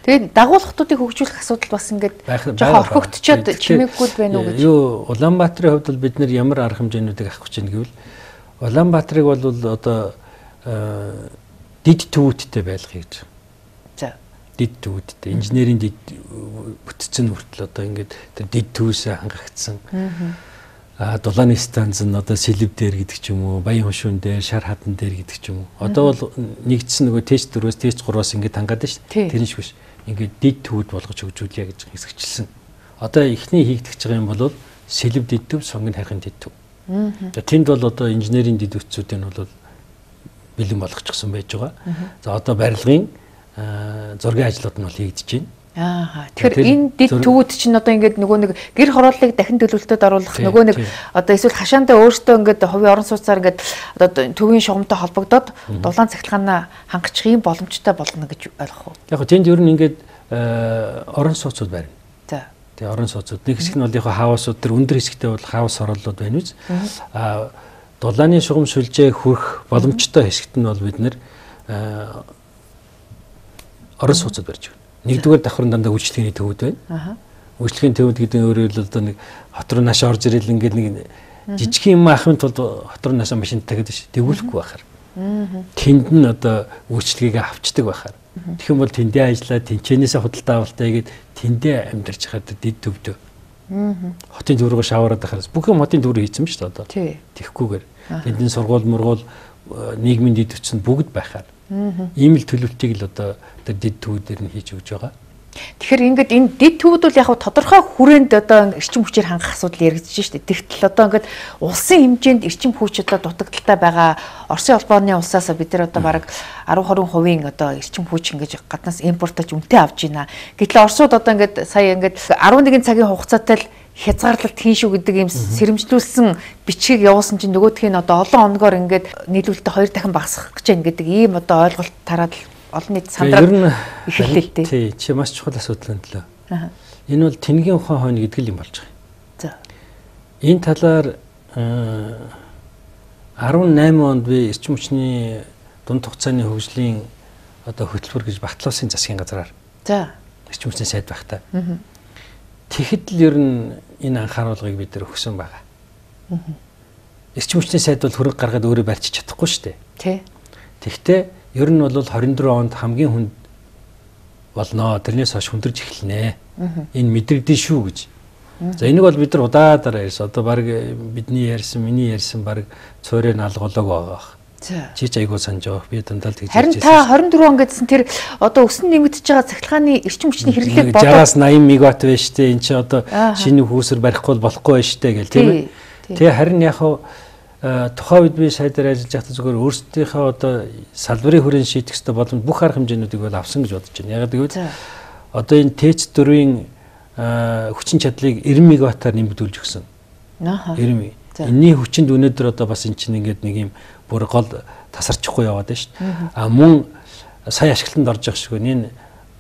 Тэгээд дагуулгатуудыг хөгжүүлэх асуудал бас ингээд жоохон орхигдчиод чимээггүй байна уу гэж. Юу Улаанбаатарын хувьд бол бид нар ямар арга хэмжээнүүдийг авах гэж байна гэвэл Улаанбаатарыг бол одоо дид төвүүдтэй байлгая гэж. За. Дид төвүүдтэй инженерийн дид бүтцэн хүртэл одоо ингээд тэр дид төвөөсөө хангагдсан. А дулааны станц нь одоо сэлэв дээр гэдэг ч юм уу, баян хушуун дээр, шар хадан дээр гэдэг ч юм уу. Одоо бол нэгдсэн нөгөө тест дөрвөөс тест гураас ингээд хангаад байна шүү дээ. Тэр нь биш. Ингээд дид төвд болгож хөгжүүлье гэж хэсэгчилсэн. Одоо эхний хийгдэж байгаа юм бол сэлэв дид төв, сонгон хайхын дид төв. За тэнд бол одоо инженерийн дид үтсүүд нь бол бэлэн болгочихсон байж байгаа. За одоо барилгын зургийн ажлууд нь бол хийгдэж байна. Аа. Тэгэхээр энэ дид төвүүд чинь одоо ингээд нөгөө нэг гэр хорооллыг дахин төлөвлөлтөд оруулах нөгөө нэг одоо эсвэл хашаандаа өөртөө ингээд хувийн орон сууцаар ингээд одоо төвийн шугамтай холбогдоод дулаан цахилгаанаа хангачих юм боломжтой болно гэж ойлгох уу? Яг гоо тэнд ер нь ингээд орон сууцуд байна. За. Тэгээ орон сууцуд нэг хэсэг нь бол яг хаусууд төр өндөр хэсэгтээ бол хаус хорооллууд байна үз. Аа дулааны шугам сүлжээ хүрэх боломжтой хэсэгт нь бол бид нэр орон сууцуд барьж байна. Нэгдүгээр давхрын дандаа үйлчлэгээний төвүүд байна. Үйлчлэгээний төвүүд гэдэг нь өөрөөр хэлбэл одоо нэг хот руу наашаа орж ирэл ингээд нэг жижиг юм ахын тулд хот руу наашаа машинтай гэдэг шүү. Тэгүүлэхгүй байхаар. Тэнд нь одоо үйлчлэгийг авчдаг байхаар. Тэгэх юм бол тэндээ ажиллаа, тэнцэнээсээ худалдаа авалтаа гээд тэндээ амьдарч хаад дид төвдөө. Хотын төв рүү шавараад байхаас бүх юм хотын төв рүү хийсэн шүү дээ одоо. Тэхгүйгээр. Тэндийн сургууль, мургуул, нийгмийн дид төвчөнд бүгд байхаар. Ийм л төлөвлөлтийг л одоо тэр дид төвүүдээр нь хийж өгч байгаа. Тэгэхээр ингээд энэ дид төвүүд бол яг тодорхой хүрээнд одоо эрчим хүчээр хангах асуудал яригдчихэж штэ. Тэгтэл одоо ингээд улсын хэмжээнд эрчим хүч одоо дутагдaltaй байгаа Оросын улбооны улсаас бид нар одоо бараг ten twenty хувийн одоо эрчим хүч ингээд гаднаас импортож үнэтэй авч байна. Гэтэл Оросууд одоо ингээд сая ингээд eleven цагийн хугацаатай л хязгаарлалт хийн шүү гэдэг юм сэрэмжлүүлсэн бичгийг явуулсан чинь нөгөөх нь одоо олон оногоор ингээд нийлүүлэлтээ хоёр дахин багасгах гэж байна гэдэг ийм одоо ойлголт тараад олон нийт сандраад эхэллээ л дээ. Тий, чи маш чухал асуудал байна лээ. Аа. Энэ бол тэнгийн ухаан хойно гэдэг л юм болж байгаа. За. Энэ талаар eighteen онд би эрчим хүчний дунд хугацааны хөгжлийн одоо хөтөлбөр гэж батлуулсан засгийн газраар. За. Эрчим хүчний сайд багтаа. Аа. Тэгэхэд л ер нь энэ анхааруулгыг бид нэр өгсөн байгаа. Аа. Эрчим хүчний сайд бол хөрөнгө гаргаад өөрөө барьчих чадахгүй шүү дээ. Тий. Тэгэхдээ ер нь бол twenty-four онд хамгийн хүнд болно. Тэрнээс хойш хүндэрж эхэлнэ. Энэ мэдрэгдэн шүү гэж. За энийг бол бид нар удаадараа ярьсан. Одоо баг бидний ярьсан, миний ярьсан баг цорын алголог байгаа. Чиж айгуу санаж байгаа. Би дандаа л тэгж харин та хорин дөрвөн он гэдсэн тэр одоо өсөн нэмэгдэж байгаа цахилгааны эрчим хүчний хэрэглээг бодоод шестьдесят восемь мегаватт байна шүү дээ. Энд чинь одоо шинэ хүүсэр барихгүй болохгүй байна шүү дээ гэл тийм ээ. Тэгээ харин яг хаа тухайн үед би сайдаар ажиллаж байхдаа зүгээр өөрсдийнхөө одоо салбарын хүрээнд шийдэх ёстой боломж бүх арга хэмжээнүүдийг бол авсан гэж бодож байна. Яг гэвэл одоо энэ ТЭЦ дөрвийн хүчин чадлыг ninety мегаваттаар нэмэгдүүлж өгсөн. Аа. ninety. Энэний хүчинд өнөөдөр одоо бас эн чинь ингээд нэг юм бүр гол тасарчихгүй яваад байна шүү дээ. А мөн сая ашиглалтанд орж байгаа шиг энэ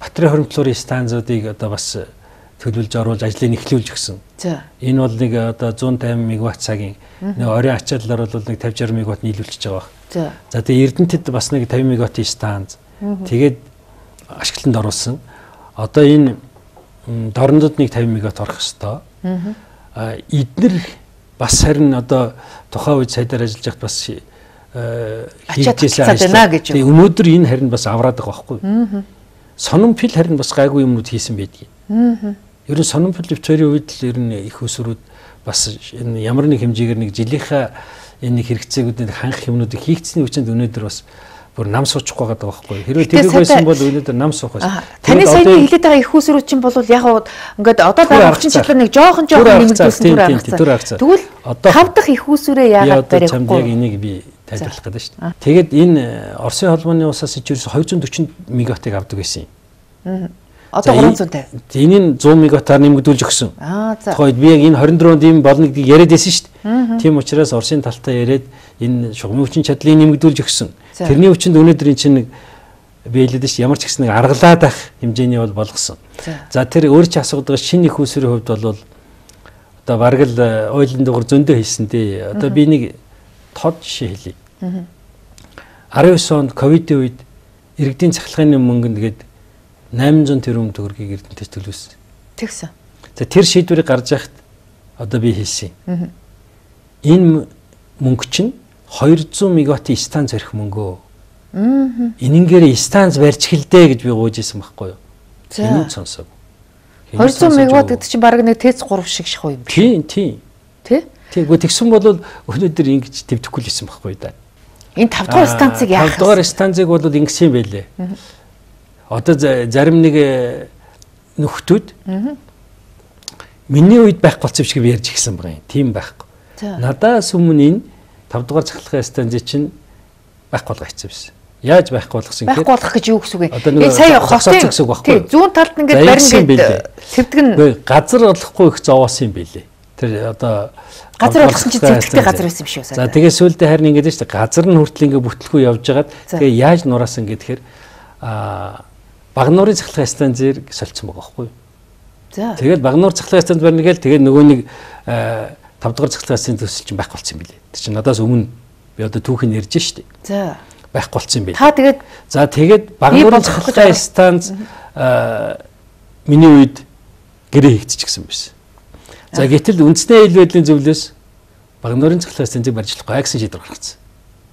батарей хоримтлуурын станцуудыг одоо бас төлөвлөж оруулж ажлыг эхлүүлж өгсөн. За. Энэ бол нэг одоо one hundred fifty мегаватт цагийн нэг оройн ачааллаар бол нэг fifty sixty мегаватт нийлүүлчихэж байгаа баг. За. За тэгээ Эрдэнэтэд бас нэг fifty мегаваттын станц тэгээд ашиглалтанд оруулсан. Одоо энэ дорнодод нэг fifty мегаватт орох ёстой. А эднэр бас харин одоо тухайн үед сайдаар ажиллаж байхад бас хийжсэн ажил. Тэгээ өнөөдөр энэ харин бас авраад байгаа байхгүй. Сонирмпил харин бас гайгүй юмнууд хийсэн байдгийг. Ер нь сонирмпил өвчөрийн үед л ер нь их усрууд бас энэ ямар нэг хэмжээгээр нэг жилийнхаа энэ хэрэгцээгүүдэд хангах юмнуудыг хийгдсэний хүчинд өнөөдөр бас бүр нам суучихгүй байгаа байхгүй. Хэрвээ тэрийг байсан бол өнөөдөр нам суух байсан. Таны саяны хэлээд байгаа их усрууд чинь бол яг ингээд одоо байгаа хүчин чадлаар нэг жоохон жоохон нэмэгдүүлсэн түр авчихсан. Тэгвэл тав дахь их усрээ яагаад барихгүй? Яг энийг би тайлбарлах гэдэг шүү дээ. Тэгээд энэ Оросын холбооны усаас ичээрс two hundred forty мегаваттыг авдаг байсан юм. Одоо three hundred. Энийг one hundred мегаваттаар нэмэгдүүлж өгсөн. Аа за. Тэгэхээр би яг энэ twenty-four ийм болно гэдгийг яриад байсан шүү дээ. Тийм учраас Оросын талтаа яриад энэ шугамын хүчин чадлыг нэмэгдүүлж өгсөн. Тэрний хүчинд өнөөдөр эн чинь нэг би хэлээд шүү ямар ч гэсэн нэг аргалаад ах хэмжээний бол болгосон. За тэр өөр чи асуудаг шинэ их усрын хувьд бол одоо бараг л ойлын дугаар зөндөө хийсэн дээ. Одоо би нэг тод жишээ хэлье. nineteen онд ковидын үед иргэдийн цахилгааны мөнгөнд гээд eight hundred тэрбум төгрөгийг Эрдэнэтэд төлөвлөсөн. Тэгсэн. За тэр шийдвэрийг гаргаж яхад одоо би хэлсэн. Энэ мөнгө чинь two hundred мегаваттын станц барих мөнгөө. Энэнгээр станц барьж эхэлдэ гэж би гуйж исэн байхгүй юу? Энэ сонсоо. two hundred мегаватт гэдэг чинь бараг нэг ТЭЦ three шиг ших юм. Тийм, тийм. Тэ? Тэгвэл тэгсэн бол өнөөдөр ингэж төвдөхгүй л исэн байхгүй да. Энэ five дугаар станцыг яах вэ? five дугаар станцыг бол ингэсэн байлээ. Одоо зарим нэг нөхдүүд миний үед байх болцсон шиг ярьж гисэн байгаа юм. Тийм байхгүй. Надаас өмнө энэ five дугаар цахилгаан станцыг чинь байхгүй болгох гэсэн байсан. Яаж байхгүй болгосон гэхээр байхгүй болгох гэж юу гэсэн үг вэ? Энэ сая хотын тий зүүн талд ингээд барин гээд цэвдгэн газар олохгүй их зовоосон юм байлээ. Тэр одоо газар олгосон чинь цэвдэгтэй газар байсан юм шиг байна. За тэгээ сүүлдээ харин ингээд шүү дээ газар нь хүртэл ингээд бүтлгүй явж байгаад тэгээ яаж нураасан гэхээр аа Багнуурын цахилгаан станцээр солилцсон байгаа байхгүй юу? За. Тэгээд Багнуур цахилгаан станц барьна гээл тэгээд нөгөө нэг five дугаар цахилгаан станцын төсөл чинь байхгүй болсон юм билээ. Тэр чинь надаас өмнө би одоо түүхийг ярьж шүү дээ. За. Байхгүй болсон юм билээ. Та тэгээд за тэгээд Багнуурын цахилгаан станц миний үед гэрээ хийгдчихсэн байсан. За гэтэл үндэсний ил байдлын зөвлөөс Багнуурын цахилгаан станцыг барьж болохгүй гэсэн шийдвэр гаргацсан.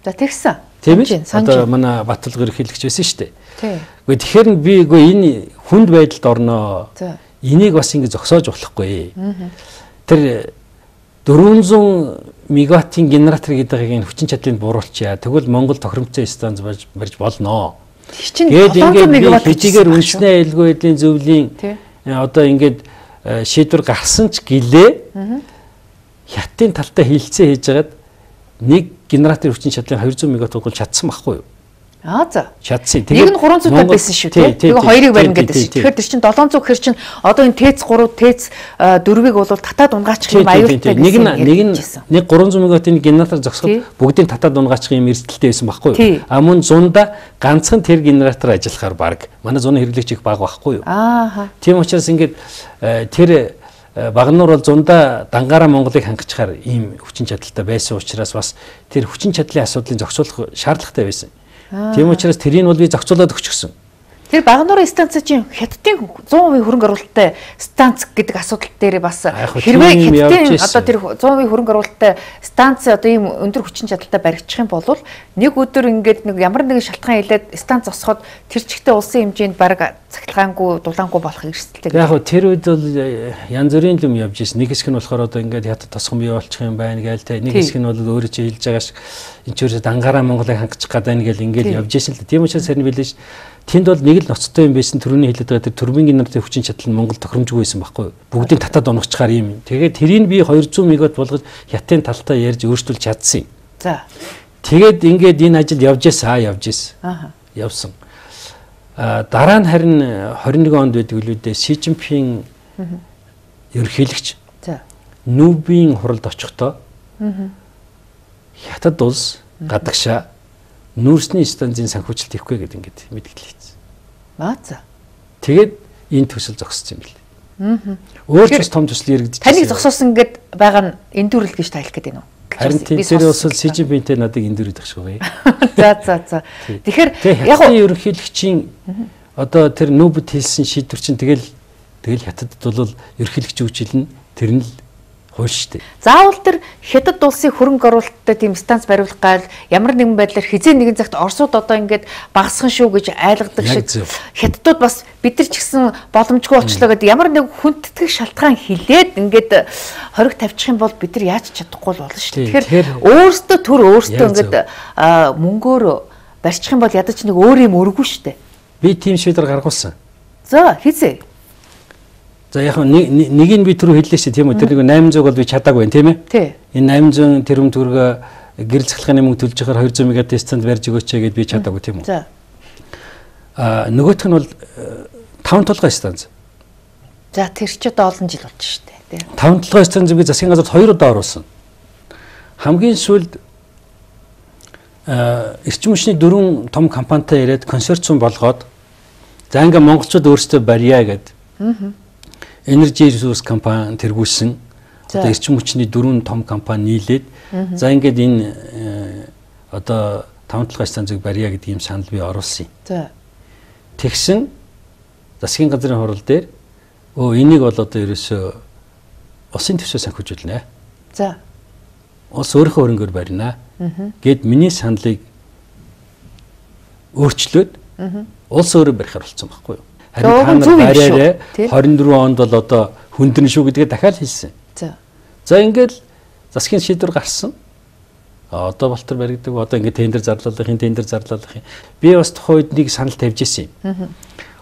За тэгсэн. Тийм ээ. Одоо манай Баталгэр хэлэгч байсан шүү дээ. Тийм. Гэхдээ тэгэхээр нь би үгүй энэ хүнд байдалд орноо. Энийг бас ингэ зогсоож болохгүй. Тэр four hundred мегаваттын генератор гэдэг энэ хүчин чадлыг бууруулчаа. Тэгвэл Монгол тохиромжтой станц барьж болноо. Тэгээд ингээд хэдийгээр үндэсний аюулгүй байдлын зөвлөлийн одоо ингээд шийдвэр гарсан ч гэлээ хятадын талтай хилцээ хийж хагаад нэг генераторын хүчин чадлын two hundred мегаватт бол чадсан байхгүй юу? Аа за. Чадсан. Тэгээд нэг нь three hundred байсан шүү дээ. Тэгээ хоёрыг барина гэдэг шүү. Тэгэхээр тэр чинь seven hundred гэхэр чинь одоо энэ ТЭЦ three, ТЭЦ four-ыг бол татаад унгаачих юм аюултай гэсэн. Нэг нь нэг нь нэг three hundred мегаваттын генератор зогсоход бүгдийг татаад унгаачих юм эрсдэлтэй байсан байхгүй юу? А мөн зунда ганцхан тэр генератор ажиллахаар баг. Манай зуны хэрэглэгч их бага байхгүй юу? Аа. Тийм учраас ингээд тэр Багнуур бол зундаа дангаараа Монголыг хангачаар ийм хүчин чадалтай байсан учраас бас тэр хүчин чадлын асуудлыг зохицуулах шаардлагатай байсан. Тийм учраас тэрийг бол би зохицуулаад өгчихсөн. Тэр Багнуурын станц чинь Хятадын зуун хувийн хөрөнгө оруулалттай станц гэдэг асуудал дээр бас хэрвээ Хятадын одоо тэр зуун хувийн хөрөнгө оруулалттай станц одоо ийм өндөр хүчин чадалтай баригдчих юм бол нэг өдөр ингээд нэг ямар нэгэн шалтгаан хэлээд станц зогсоход тэр чигтээ улсын хэмжээнд бараг цахилгаангүй дулаангүй болох эрсдэлтэй. Яг хөө тэр үед бол янз бүрийн юм явж ирсэн. Нэг хэсэг нь болохоор одоо ингээд Хятад тосгон бий болчих юм байна гээл те. Нэг хэсэг нь бол өөрөө чи хэлж байгаа шиг энэ ч үрсэ дангараа Монголыг хангах гээд байна гээл ингээд явж ирсэн л дээ. Тийм учраас харин билээ ш. Тэнд бол нэг л ноцтой юм байсан төрөний хэлээд байгаа тэр турбин генератор хүчин чадал нь Монгол тохиромжгүй байсан байхгүй юу? Бүгдийг татаад онгочгаар юм. Тэгээд тэрийг би хоёр зуун мегаватт болгож Хятадын талтай ярьж өөрчлөлт чадсан юм. За. Тэгээд ингээд энэ ажил явж ясаа явж яс. Аа. Явсан. А дараа нь харин двадцать нэг онд байдаг үлүүдээ Си Цзиньпин ерөнхийлөгч. За. Нүүбийн хуралд очихдоо Хятад улс гадагшаа нүүрсний станцын санхүүжилт хийхгүй гэдэг ингээд мэдгэл хийсэн. Аа за. Тэгээд энэ төсөл зогссон юм бэл. Аа. Өөр ч том төсөл иргэдэж. Таныг зогсоосон гээд байгаа нь эндүрэл гэж тайлх гэдэг нь үү? Харин тэр бас Си Цзиньпинтэй надад эндүрэх шүү. За за за. Тэгэхээр яг нь ерөнхийлөгчийн одоо тэр нүүбэд хэлсэн шийдвэр чинь тэгэл тэгэл Хятадд бол ерөнхийлөгч үжилнэ тэр нь л хууль шүү дээ. Заавал тэр Хятад улсын хөрөнгө оруулалттай тийм станц бариулах гал ямар нэгэн байдлаар хизээ нэгэн цагт Оросууд одоо ингээд багасхан шүү гэж айлгадаг шиг Хятадууд бас бид нар ч гэсэн боломжгүй болчлоо гэдэг ямар нэг хүндэтгэх шалтгаан хилээд ингээд хориг тавьчих юм бол бид нар яаж чадахгүй болно шүү дээ. Тэгэхээр өөрсдөө төр өөрсдөө ингээд мөнгөөр барьчих юм бол ядаж нэг өөр юм өргөө шүү дээ. Би тийм шийдвэр гаргуулсан. За хизээ. За яг нэг нэг нь би түрүү хэллээ шүү тийм үү тэр нэг восемь сто бол би чадаагүй тийм ээ. Тий. Энэ восемь сто тэрүүм төгрөгө гэрэл цахилгааны мөнгө төлж байгаа двести мегаватт станц барьж өгөөч гэд би чадаагүй тийм үү. За. Аа нөгөөх нь бол таван толгой станц. За тэр ч одоо олон жил болж шүү дээ тий. таван толгой станц би засгийн газарт хоёр удаа оруулсан. Хамгийн сүүлд аа эрчим хүчний дөрвөн том компанитай яриад консорциум болгоод за ингээ монголчууд өөрсдөө барья гэд. Аа. Energy Resource компани тэргүүлсэн. Одоо эрчим хүчний дөрвөн том компани нийлээд за ингээд энэ одоо таван толгой станцыг барья гэдэг юм санал би оруулсан. За. Тэгсэн засгийн газрын хурал дээр өө энийг бол одоо ерөөсөө улсын төсөө санхүүжүүлнэ. За. Улс өөрийнхөө хөрөнгөөр барина. Гэд миний саналыг өөрчлөөд улс өөрөө барихаар болсон байхгүй юу? Харин та нар бариараа двадцать дөрвөн онд бол одоо хүндэрнэ шүү гэдгээ дахиад хэлсэн. За. За ингээд засгийн шийдвэр гарсан. А одоо Балтар баригдаг. Одоо ингээд тендер зарлуулах юм, тендер зарлуулах юм. Би бас тухайн үед нэг санал тавьж ирсэн юм.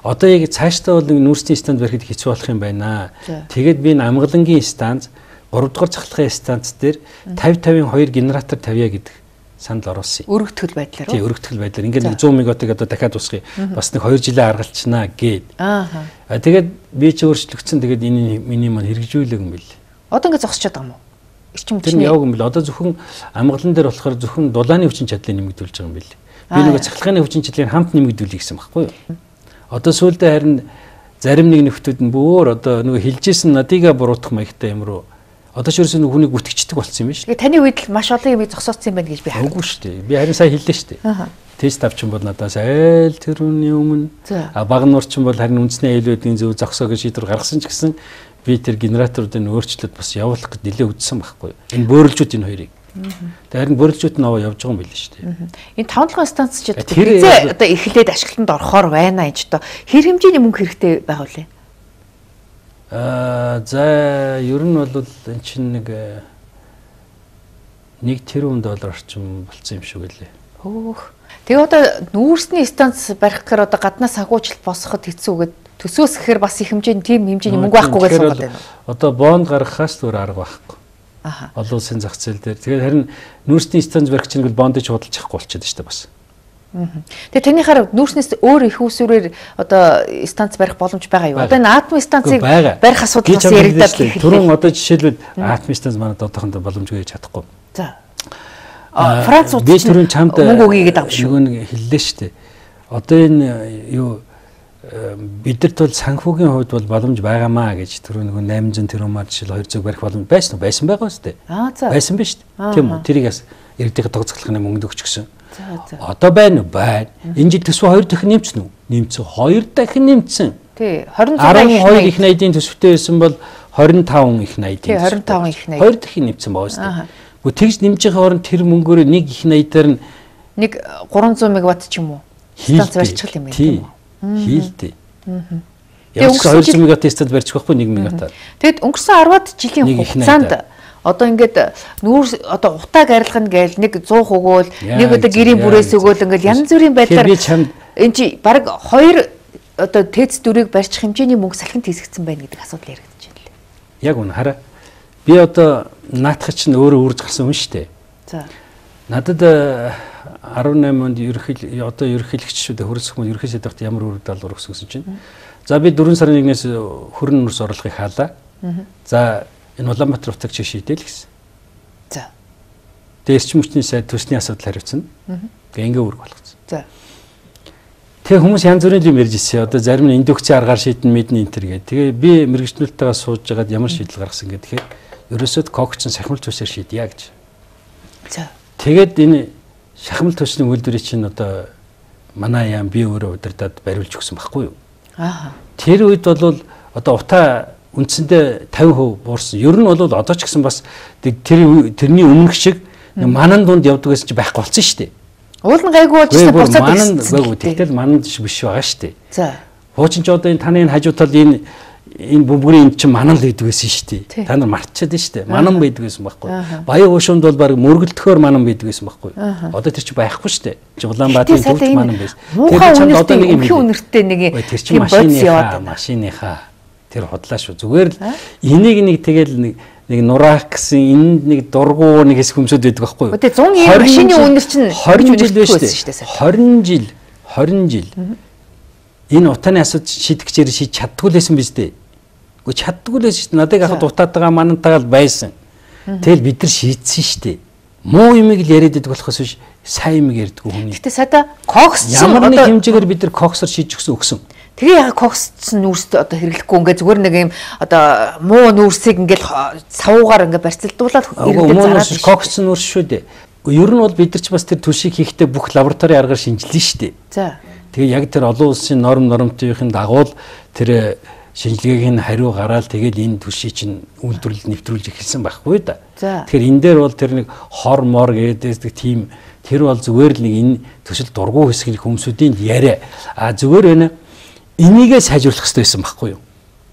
Одоо яг цаашдаа бол нэг нүүрсний станц барихад хэцүү болох юм байна. Тэгээд би энэ амгалангийн станц гурав дахь цахилгааны станц дээр пятьдесят пятьдесят хоёр генератор тавья гэдэг санал оруулсан. Өргөтгөл байдлаар. Тий, өргөтгөл байдлаар. Ингээд нэг сто мегаваттыг одоо дахиад усгий. Бас нэг хоёр жилийн аргалчнаа гээд. Аа. Тэгээд би ч өөрчлөгдсөн. Тэгээд энэ миний маань хэрэгжүүлэг юм бэл. Одоо ингээд зогсчиход байгаа юм уу? Эрчим хүчний. Тэр яваг юм бэл. Одоо зөвхөн амгалан дээр болохоор зөвхөн дулааны хүчин чадлыг нэмэгдүүлж байгаа юм бэл. Би нөгөө цахилгааны хүчин чадлыг хамт нэмэгдүүлэх гэсэн байхгүй юу? Одоо сүүлдээ харин зарим нэг нөхдүүд нь бүр одоо нөгөө хилжсэн надыгаа буруутгах маягтай юм руу одоо ч ерөөсөө нүхнийг үтгэждэг болсон юм биш. Тэгээ таны үед л маш олон юм зогсооцсон юм байна гэж би харав. Үгүй шүү дээ. Би харин сая хэллээ шүү дээ. Тест авчин бол надаас айл тэрүүний өмнө а Багнуурчин бол харин үндэсний аюулуудын зөв зогсоо гэж шийдвэр гаргасан ч гэсэн би тэр генераторуудын өөрчлөлт бас явуулах гэж нэлээд үдсэн байхгүй. Энэ бөөрөлжүүд энэ хоёрыг. Тэгээ харин бөөрөлжүүд нь аваа явж байгаа юм билээ шүү дээ. Энэ таван толгой станц ч хизээ одоо эхлээд ашиглалтанд орохоор байна энэ ч одоо хэр хэмжээний мөнгө хэрэгтэй байгаа вэ? Аа за ер нь бол эн чинь нэг нэг тэрбум доллар орчим болцсон юм шиг үлээ. Хөөх. Тэгээ одоо нүүрсний станц барих гэхээр одоо гаднаас агуулжилт босгоход хэцүү гэд төсөөс гэхээр бас их хэмжээний тийм хэмжээний мөнгө байхгүй гэсэн үг байна. Одоо бонд гаргахаас өөр арга байхгүй. Аха. Олон улсын зах зээл дээр. Тэгээд харин нүүрсний станц барих чинь бондыг худалдаж чадахгүй болчиход шүү дээ бас. Тэгээ танийхаар нүүрснээс өөр их усүрээр одоо станц барих боломж байгаа юу? Одоо энэ атом станцыг барих асуудал бас яригдаад байна. Түрүүн одоо жишээлбэл атом станц манад одоохондоо боломжгүй хийж чадахгүй. За. А Францууд би түрүүн чамд мөнгө өгье гэдэг юм шүү. Нэг хэллээ шүү дээ. Одоо энэ юу бидэрт бол санхүүгийн хувьд бол боломж байгаамаа гэж түрүү нэг восемь сто тэрбумаар жишээл хоёр цэг барих боломж байсан уу? Байсан байгаа үстэй. Аа за. Байсан биз дээ. Тийм үү? Тэрийг бас иргэдийн тогтцохлохны мөнгө өгч гисэн. Одоо байна уу? Байна. Энэ жил төсвөө хоёр дахин нэмчихнэ үү? нэмсэн, хоёр дахин нэмсэн. Тий, двадцать двадцать их найдын төсөвтэй байсан бол двадцать пять их найдын. Тий, двадцать пять их найд. Хоёр дахин нэмсэн байгаа шүү дээ. Гэхдээ тэгж нэмж байгаа хооронд тэр мөнгөөр нэг их найдаар нь нэг trois cents мегаватт ч юм уу? Станц барьчих юм байна тийм үү? Хийлдэ. Яг two hundred мегаватт станц барьчих байхгүй нэг мегаватт. Тэгэд өнгөрсөн десять жилийн хугацаанд одоо ингээд нүүр одоо утааг арилгана гээл нэг one hundred өгөөл нэг одоо гэрийн бүрээс өгөөл ингээд янз бүрийн байдлаар энэ чи баг хоёр одоо тэц дүрийг барьчих хэмжээний мөнгө салхинд хийсгдсэн байна гэдэг асуудал яригдаж байна лээ. Яг үнэ хараа. Би одоо наадах чинь өөрөө үрж гарсан хүн шүү дээ. За. Надад eighty-eight онд ерөнхий одоо ерөнхийлөгчшүүд хөрөсөх мөн ерөнхий сайдтай ямар үр даалгавар өгсөн гэсэн чинь. За би four сарын нэгнээс хөрөн нурс орлогыг хаалаа. За энэ Улаанбаатар утаг чи шийдэл гэсэн. За. Тэгээ эрчим хүчний сайд төсний асуудал хариуцсан. Тэгээ ингээ үүрэг болгоцсон. За. Тэгээ хүмүүс янз бүрийн юм ярьж ирсэн. Одоо зарим нь индукцийн аргаар шийдэн мэднэ энэ төр гэ. Тэгээ би мэрэгчлэлтэйгээ сууж байгаад ямар шийдэл гаргасан гэдэг. Тэгэхээр ерөөсөө когчсон сахимал төсөөр шийдъя гэж. За. Тэгээд энэ шахмал төсний үйлдвэрийг чинь одоо манай яам би өөрөө удирдаад бариулж өгсөн байхгүй юу? Аа. Тэр үед бол одоо утаа үндсэндээ fifty percent буурсан. Ер нь бол одоо ч гэсэн бас тэр тэрний өмнөх шиг манан дунд явдаг гэсэн чи байхгүй болсон шүү дээ. Уул нь гайгүй болж ирсэн буцаад манан гайгүй. Тэгтэл манан биш байгаа шүү дээ. За. Хуучин ч одоо энэ таны энэ хажуу тал энэ энэ бөмбөрийн энэ чинь манан л байдаг байсан шүү дээ. Та нар мартчихад шүү дээ. Манан байдаг байсан байхгүй. Баян уушунд бол баг мөргөлдөхөөр манан байдаг байсан байхгүй. Одоо тэр чинь байхгүй шүү дээ. Чи Улаанбаатарын төвч манан байсан. Тэр чинь одоо нэг юм үнэртэй нэг юм машиныхаа машиныхаа тэр хотлаа шүү. Зүгээр л энийг нэг тэгэл нэг нэг нураах гэсэн энд нэг дургуу нэг хэсэг хүмсүүд байдаг байхгүй юу? Тэгээ one hundred машины үнэр чинь twenty жил байсан шүү дээ. twenty жил twenty жил энэ утааны асуудал шийдэгчээр шийд чаддгүй лсэн биз дээ. Гэхдээ чаддгүй лсэн шүү дээ. Надад ахад утаад байгаа манантайгаа байсан. Тэгэл бид нар шийдсэн шүү дээ. Муу юмыг л яриад идэх болохоос биш сайн юмыг ярьдгүй хүн. Гэтэ сада кокс ямар нэг хэмжээгээр бид нар коксор шийдэж өгсөн өгсөн. Тэгээ яг коксцсан нүүрст одоо хэрэглэхгүй ингээ зүгээр нэг юм одоо муу нүүрсийг ингээл савуугаар ингээ барьцалдуулаад хэрэглэж зараад коксцсан нүүрс шүү дээ. Ер нь бол бид нар ч бас тэр түлшийг хийхдээ бүх лабораторийн аргаар шинжилнэ шүү дээ. За. Тэгээ яг тэр олон улсын норм нормтойхын дагуу тэр шинжилгээг нь хариу гараад тэгээд энэ түлшийг чинь үйлдвэрлэлд нэвтрүүлж эхэлсэн байхгүй да. Тэгэхээр энэ дээр бол тэр нэг хор мор гэдэг тийм тэр бол зүгээр л нэг энэ төсөл дургу хэсгийн хүмүүсийн яриа. А зүгээр байна. Энийгээ сайжруулах хэрэгтэй байсан байхгүй юу?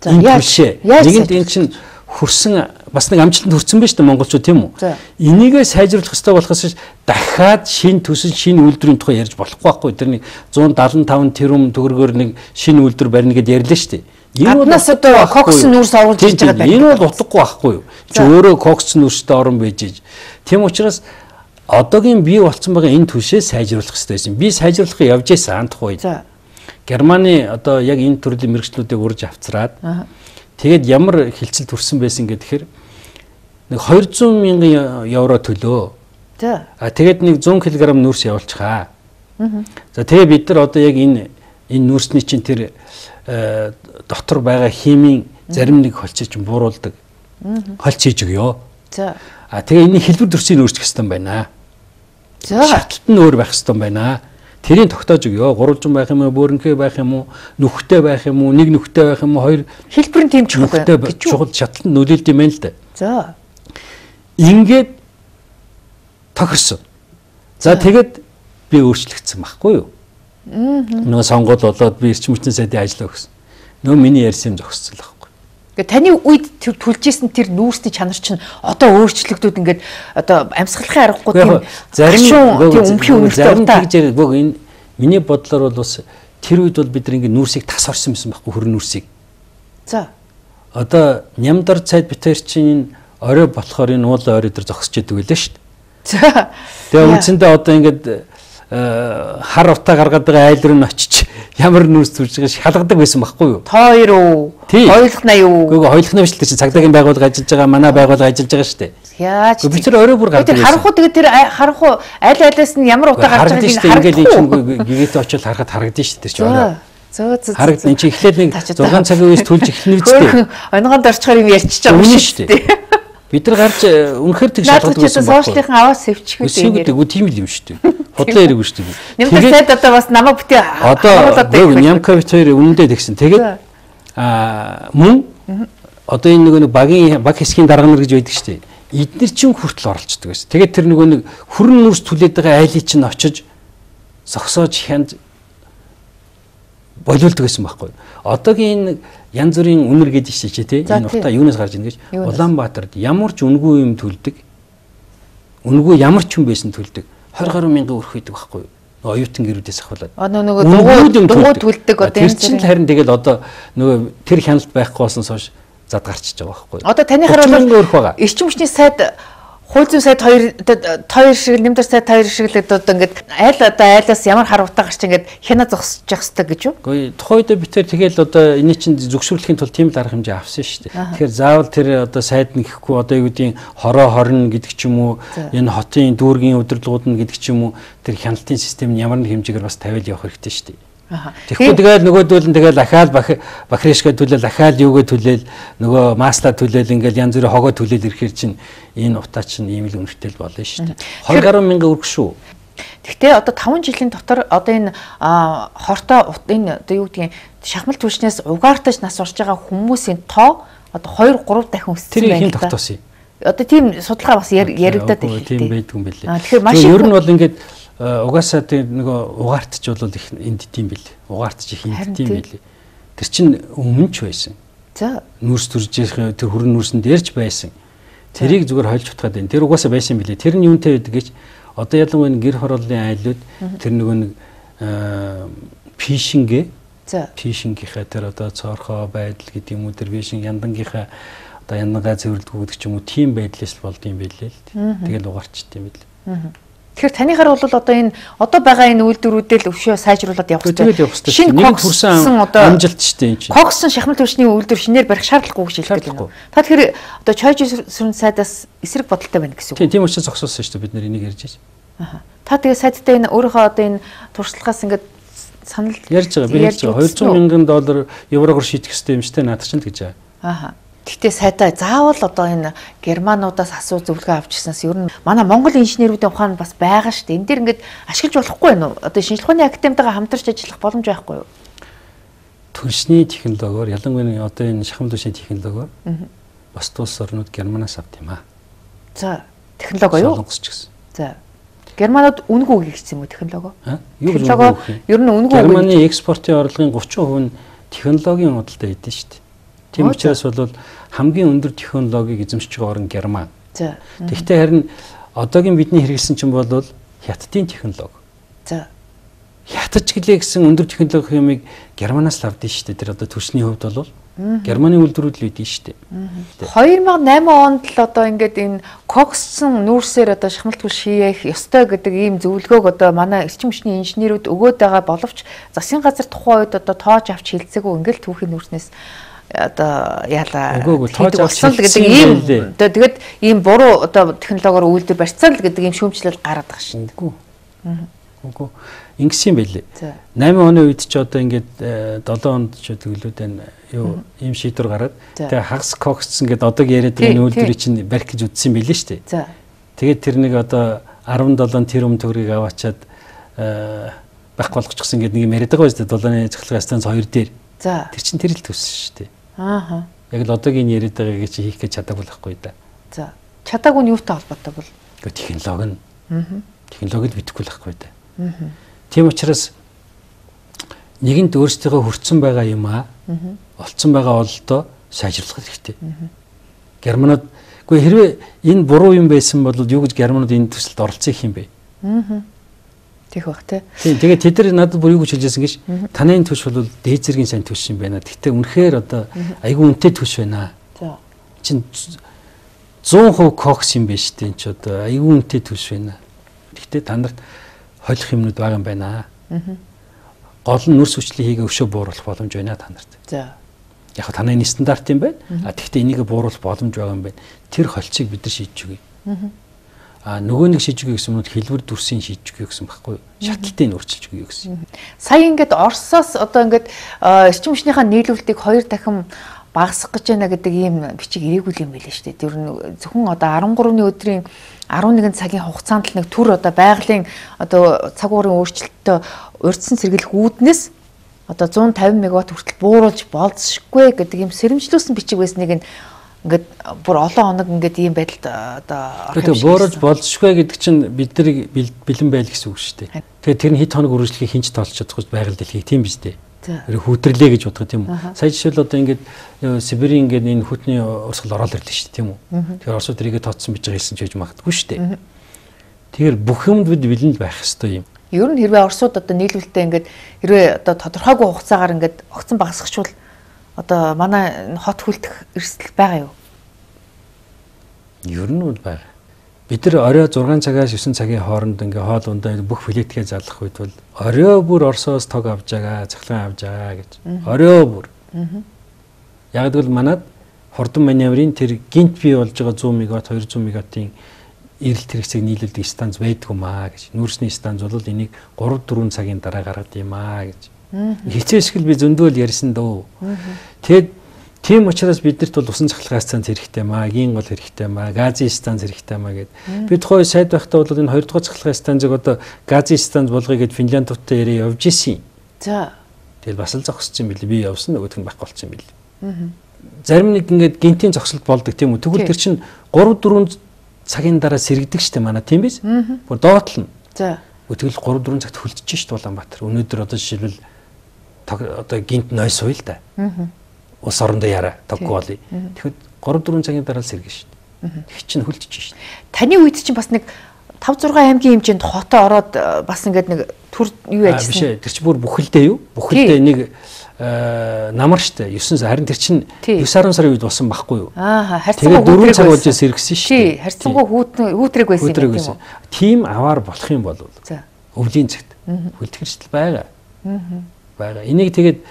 Энэ түлшээ. Нэгэнд энэ чинь хөрсөн бас нэг амжилтанд хүрсэн байж та монголчууд тийм үү? Энийгээ сайжруулах хэрэгтэй болохоос дахиад шинэ төсөл шинэ үйлдвэрийн тухай ярьж болохгүй байхгүй. Тэр нэг one seventy-five тэрбум төгрөгөөр нэг шинэ үйлдвэр барьна гэдээ ярьлаа шүү дээ. Энэ бол одоо кокс нүүрс оруулж ирж байгаа байна. Энэ бол утгагүй байхгүй юу? Чи өөрөө кокс нүүрстэй орон байж иж. Тийм учраас одоогийн бий болсон байгаа энэ түлшээ сайжруулах хэрэгтэй байсан. Би сайжруулахыг явж байсан анх үед. Германы одоо яг энэ төрлийн мэрэгчлүүдийг урьж авцраад тэгээд ямар хилцэл төрсэн байсан гэхээр нэг two hundred мянган евро төлөө. За. А тэгээд нэг one hundred килограмм нүүрс явуулчихаа. За тэгээд бид нар одоо яг энэ энэ нүүрсний чинь тэр дотор байгаа химийн зарим нэг холцыг чинь бууруулдаг. Холц хийж өгөө. За. А тэгээ энэ хэлбэр төрсийг өөрчлөх хэрэгтэй байна. За. Шатлалт нь өөр байх хэрэгтэй байна. Тэрийг тогтоож өгөө. Гурвалжин байх юм уу, бөөрөнхөө байх юм уу, нүхтэй байх юм уу, нэг нүхтэй байх юм уу, хоёр хэлбэр нь тийм чухал гэж чухал шатлалт нь нөлөөлд юм байна л да. За. Ингээд тохирсон. За тэгээд би өөрчлөгдсөн байхгүй юу? Нөгөө сонгуул болоод би эрчим хүчний сайдын ажиллаа өгсөн. Нөгөө миний ярьсан юм зогссон л байхгүй. Гэхдээ таны үед түлжсэн тэр нүүрсний чанар чинь одоо өөрчлөгдөд ингээд одоо амьсгалахын аргагүй тийм зарим тийм өмхийн үнэлтэй удаа. Бог энэ миний бодлоор бол бас тэр үед бол бид нэг нүүрсийг тас орсон байсан байхгүй хөрөн нүүрсийг. За. Одоо нямдар цайд битэр чинь орой болохоор энэ уул орой дээр зогсож идэг байлаа шүү дээ. За. Тэгээ үндсэндээ одоо ингээд хар утаа гаргаад байгаа айл руу н очиж ямар нүүрс төрж байгаа шалгадаг байсан байхгүй юу? Тоор уу? Хойлохна юу? Үгүй хойлохна биш л чинь цагдаагийн байгууллага ажиллаж байгаа, манай байгууллага ажиллаж байгаа шүү дээ. Яаж? Би тэр орой бүр гардаг. Тэр харанхуу тэгээд тэр харанхуу аль алиас нь ямар утаа гарч байгааг нь харагдаж ингээд гигээтэй очил харахад харагдаж шүү дээ чи орой. Зөө зөө. Харагдана чи эхлээд нэг six цагийн үеэс төлж эхэлнэ үстэй. Онгонд орчхоор юм ярьчих байгаа юм шүү дээ. Бид нар гарч үнэхээр тэг шалгадаг байсан байна. Сошиалын аваас сэвчихгүй дээ. Үгүй тийм л юм шүү дээ. Бодлоо хэрэггүй шүү дээ. Нямка сайд одоо бас намайг битээ одоо Нямкович хоёр үнэндээ тэгсэн. Тэгээд аа мөн одоо энэ нөгөө багийн баг хэсгийн дарга нар гэж байдаг шүү дээ. Эднэр чинь хүртэл оролцдог байсан. Тэгээд тэр нөгөө нэг хүрэн нүрс түлээд байгаа айлыг чинь очиж зогсоож хянд болиулдаг байсан байхгүй. Одоогийн энэ янз бүрийн үнэр гэдэг чинь тий энэ утаа юунаас гарч ийн гэж Улаанбаатарт ямар ч үнгүй юм төлдөг. Үнгүй ямар ч юм байсан төлдөг. двадцать гаруй мянган өрх хийдэг байхгүй. Оюутан гэрүүдээс ахвалаад. Одоо нөгөө дугуй төлдөг одоо энэ чинь харин тэгэл одоо нөгөө тэр хяналт байхгүй болсноос хойш зад гарчиж байгаа байхгүй. Одоо танийхаар бол эрчим хүчний сайд хууль зүйн сайд хоёр хоёр шиг нэмдэр сайд хоёр шиг л одоо ингээд айл одоо айлаас ямар хар утаа гарч ингээд хяна зогсож явах хэрэгтэй гэж юу? Үгүй тухайд битэр тэгэл одоо энэ чинь зөвшөөрлөхийн тулд тийм л арга хэмжээ авсан шүү дээ. Тэгэхээр заавал тэр одоо сайд нь гэхгүй одоо юу гэдгийг хороо хорно гэдэг ч юм уу энэ хотын дүүргийн удирдлагууд нь гэдэг ч юм уу тэр хяналтын систем нь ямар нэг хэмжээгээр бас тавиал явах хэрэгтэй шүү дээ. Тэгэхгүй тэгэл нөгөөдөл нь тэгэл ахаал бахришка түлээл ахаал юугээ түлээл нөгөө масла түлээл ингээл янз бүрийн хогоо түлээл ирэхэр чинь энэ утаа чинь ийм л үнэтэй болно шүү дээ. двадцать гаруй мянган өрг шүү. Гэхдээ одоо таван жилийн дотор одоо энэ хортой энэ одоо юу гэдгийг шахмал түвшнээс угаартаж нас орж байгаа хүмүүсийн тоо одоо хоёр гурав дахин өссөн Тэр байна. хин тогтоосон юм. Одоо тийм судалгаа бас яригадаад байна. Тийм байдгүй юм билээ. Тэгэхээр маш ер нь бол ингээд угаасаа тийм нөгөө угаартч бол их энд тийм билээ. Угаартч их энд тийм билээ. Тэр чинь өмнө ч байсан. За нүрс төржих тэр хүрэн нүрсэн дээрч байсан. Тэрийг зүгээр хольж утгаад байна. Тэр угаасаа байсан билээ. Тэр нь юунтэй байдаг гэж одоо ялангуяа гэр хорооллын айлууд тэр нөгөө нэг фишингээ за фишингийнхаа тэр одоо цоорхоо байдал гэдэг юм уу тэр фишинг яндангийнхаа одоо яндангаа цэвэрлдэг гэдэг ч юм уу тийм байдлаас болдсон байлээ л. Тэгэл угаарчт юм билээ. Тэгэхээр танийхаар бол одоо энэ одоо байгаа энэ үйлдвэрүүдэл өвшөө сайжруулад явах хэрэгтэй. Шинэ нэг хүрсэн амжилт шүү дээ энэ чинь. Когсон шахмал түвшний үйлдвэр шинээр барих шаардлагагүй гэж хэлдэг байна. Та тэгэхээр одоо чойж сүрэн сайдаас эсрэг бодолтой байна гэсэн үг. Тийм учраас зогсоосон шүү дээ бид нэр энийг ярьж байна. Та тэгээ сайдтай энэ өөрийнхөө одоо энэ туршлагаас ингээд санал ярьж байгаа. Би ярьж байгаа. двадцать мянган доллар еврогоор шийдэх хэрэгтэй юм шүү дээ наадах чинь гэж байгаа. Ааха. Гэхдээ сайдаа заавал одоо энэ германуудаас асуу зөвлөгөө авч ирсэнээс ер нь манай Монгол инженерүүдийн ухаан бас байгаа шүү дээ. Энд дэр ингээд ашиглаж болохгүй байна уу? Одоо шинжилгээ ухааны академитайгаа хамтарч ажиллах боломж байхгүй юу? Түншний технологиор ялангуяа одоо энэ шахмал түвшний технологиор бас тус орнууд германаас авт юм аа. За технологи юу? Солонгос ч гэсэн. За германууд үнэгүй хийгдсэн юм уу технологи? Юу гэж үнэгүй? Ер нь үнэгүй. Германы экспортын орлогын thirty percent нь технологийн худалдаа хийдэж шүү дээ. Тийм учраас бол хамгийн өндөр технологиг эзэмшиж байгаа орн Герман. За. Тэгвэл харин одоогийн бидний хэрэглэсэн чинь бол хятадын технологи. За. Хятадч гэлээ гэсэн өндөр технологи юмыг Германаас л авдсан шүү дээ. Тэр одоо түвшний хувьд бол Германы үйлдвэрүүд л үүдэн шүү дээ. two thousand eight онд л одоо ингээд энэ когссон нүүрсээр одоо шахмал түвш хийх ёстой гэдэг ийм зөвлөгөөг одоо манай эрчим хүчний инженерүүд өгөөд байгаа боловч засгийн газар тухайн үед одоо тоож авч хилцээгүй ингээд түүхийн нүүрснээс одоо яалаа тоож авсан л гэдэг ийм одоо тэгээд ийм буруу одоо технологиор үйлдвэр барьцсан л гэдэг ийм шүүмжлэл гараад байгаа шин. Үгүй. Үгүй. Ингэсэн байлээ. eight оны үед ч одоо ингээд seven онд ч төглөөдөө юу ийм шийдвэр гараад тэгээ хагас когссон гэдэг одоо яриад байгаа үйлдвэрийг чинь барих гэж үтсэн байлээ шүү дээ. За. Тэгээд тэр нэг одоо seventeen тэрбум төгрөгийг аваачаад байх болгочихсон гэдэг нэг юм яриад байгаа шүү дээ. Долооны цахилгаан станц хоёр дээр. За. Тэр чинь тэр л төссөн шүү дээ. Ааха. Яг л одоогийн яриад байгаагийг чи хийх гэж чадаагүй л байхгүй да. За. Чадаагүй нь юутай холбоотой бол? Гэхдээ технологи нь. Аа. Технологид битгэхгүй л байхгүй да. Аа. Тийм учраас нэгэнт өөрсдөө хүрцэн байгаа юм аа. Олцсон байгаа ололтоо сайжруулах хэрэгтэй. Германууд үгүй хэрвээ энэ буруу юм байсан бол юу гэж германууд энэ төсөлд оролцох юм бэ? Аа. Тэг бах тий. Тэгээд тэд нар надад бүр юу гэж хэлжсэн гэж танай төш бол дээд зэргийн сайн төш юм байна. Гэхдээ үнэхээр одоо айгүй үнэтэй төш байна. За. Чин one hundred percent кокс юм байна шүү дээ. Энд ч одоо айгүй үнэтэй төш байна. Гэхдээ та нарт холих юмнууд байгаа юм байна. Аа. Гол нь нүрс хүчлийг хийгээ өвшөө бууруулах боломж байна та нарт. За. Яг танай энэ стандарт юм байна. А тэгвэл энийг бууруулах боломж байгаа юм байна. Тэр холцыг бид нар шийдэж өгье. Аа. А нөгөө нэг шийдэж өгье гэсэн нь хэлбэр дүрсийн шийдэж өгье гэсэн байхгүй юу? Шатлалтыг өөрчилж өгье гэсэн. Сая ингээд Оросоос одоо ингээд эрчим хүчнийхээ нийлүүлэлтийг хоёр дахин багасгах гэж байна гэдэг ийм бичиг ирээгүй юм байлээ шүү дээ. Тэр нь зөвхөн одоо арван гуравны өдрийн арван нэгэн цагийн хугацаанд л нэг төр одоо байгалийн одоо цаг уурын өөрчлөлтөд урьдчилан сэргийлэх үүднээс одоо зуун тавин мегаватт хүртэл бууруулж болзошгүй гэдэг ийм сэрэмжлүүлсэн бичиг байсныг ингээд бүр олон хоног ингээд ийм байдалд одоо тэгээд бууруулж болзошгүй гэдэг чинь бидний бэлэн байл гэсэн үг шүү дээ. Тэгээд тэр нь хэд хоног үргэлжлэхийг хинч тоолж чадахгүй байгаль дэлхийг тийм биз дээ. Тэр хүүтрлээ гэж бодох тийм үү. Сая жишээл одоо ингээд Сибирийн ингээд энэ хүүтний урсгал ороод ирлээ шүү дээ тийм үү. Тэгэхээр Оросууд тэрийгэ тооцсон биж байгаа хэлсэн ч гэж магадгүй шүү дээ. Тэгэхээр бүх юмд бид бэлэн байх ёстой юм. Ер нь хэрвээ Оросууд одоо нийлүүлэлтээ ингээд хэрвээ одоо тодорхойгүй хугацаагаар ингээд огцон багасгачвал одоо манай хот хүлдэх эрсдэл байгаа юу? Ер нь бол байгаа. Бид нар орой зургаан цагаас девэн цагийн хооронд ингээ хоол ундаа бүх плетгээ залгах үед бол орой бүр Оросоос тог авж байгаа, цахилгаан авж байгаа гэж. Орой бүр. Яг л манад хурдан маневрын тэр гинт бий болж байгаа сто мегаватт двести мегаваттын эрэлт хэрэгцээг нийлүүлдэг станц байдгүй маа гэж. Нүүрсний станц бол энийг три дөрвөн цагийн дараа гаргадаг юм аа гэж. Хичээсгэл би зөндөөл ярьсан дөө. Тэгэд тийм учраас биднэрт бол усан цахилгаан станц хэрэгтэй маа, гийн гол хэрэгтэй маа, газын станц хэрэгтэй маа гэд. Бид хой сайд байхдаа бол энэ хоёр дахь цахилгаан станцыг одоо газын станц болгоё гэд Финляндтай яриа явж исэн. За. Тэгэл бас л зогсож юм билээ. Би явсан нөгөөх нь байхгүй болчихсон юм билээ. Зарим нэг ингээд гинтийн зогсолт болдог тийм үү. Тэгвэл тэр чинь три дөрвөн цагийн дараа сэргдэг штэ манай тийм биз? Бүр доотлно. За. Тэгвэл три дөрвөн цагт хөлдөж штэ Улаанбаатар. Өнөөдөр одоо жишээлбэл одоо гинт ной суй л да. Ус орондоо яра тоггүй болъё. Тэгэхэд три дөрвөн цагийн дараа л сэргэн штэ. Тэг чинь хөлдөж штэ. Таны үед чинь бас нэг five six аймгийн хэмжээнд хотоо ороод бас ингээд нэг төр юу яажсэн. Биш ээ. Тэр чинь бүр бүхэлдээ юу? Бүхэлдээ нэг намар штэ девэн харин тэр чинь девэн сарын үед болсон байхгүй юу? Аа харьцангуй дөрвөн цаг болж сэргсэн штэ. Тий, харьцангуй хүүтрэг байсан юм тийм үү? Тим аваар болох юм бол өвлийн цагт хөлдөх эрсдэл байгаа. Байгаа. Энийг тэгээд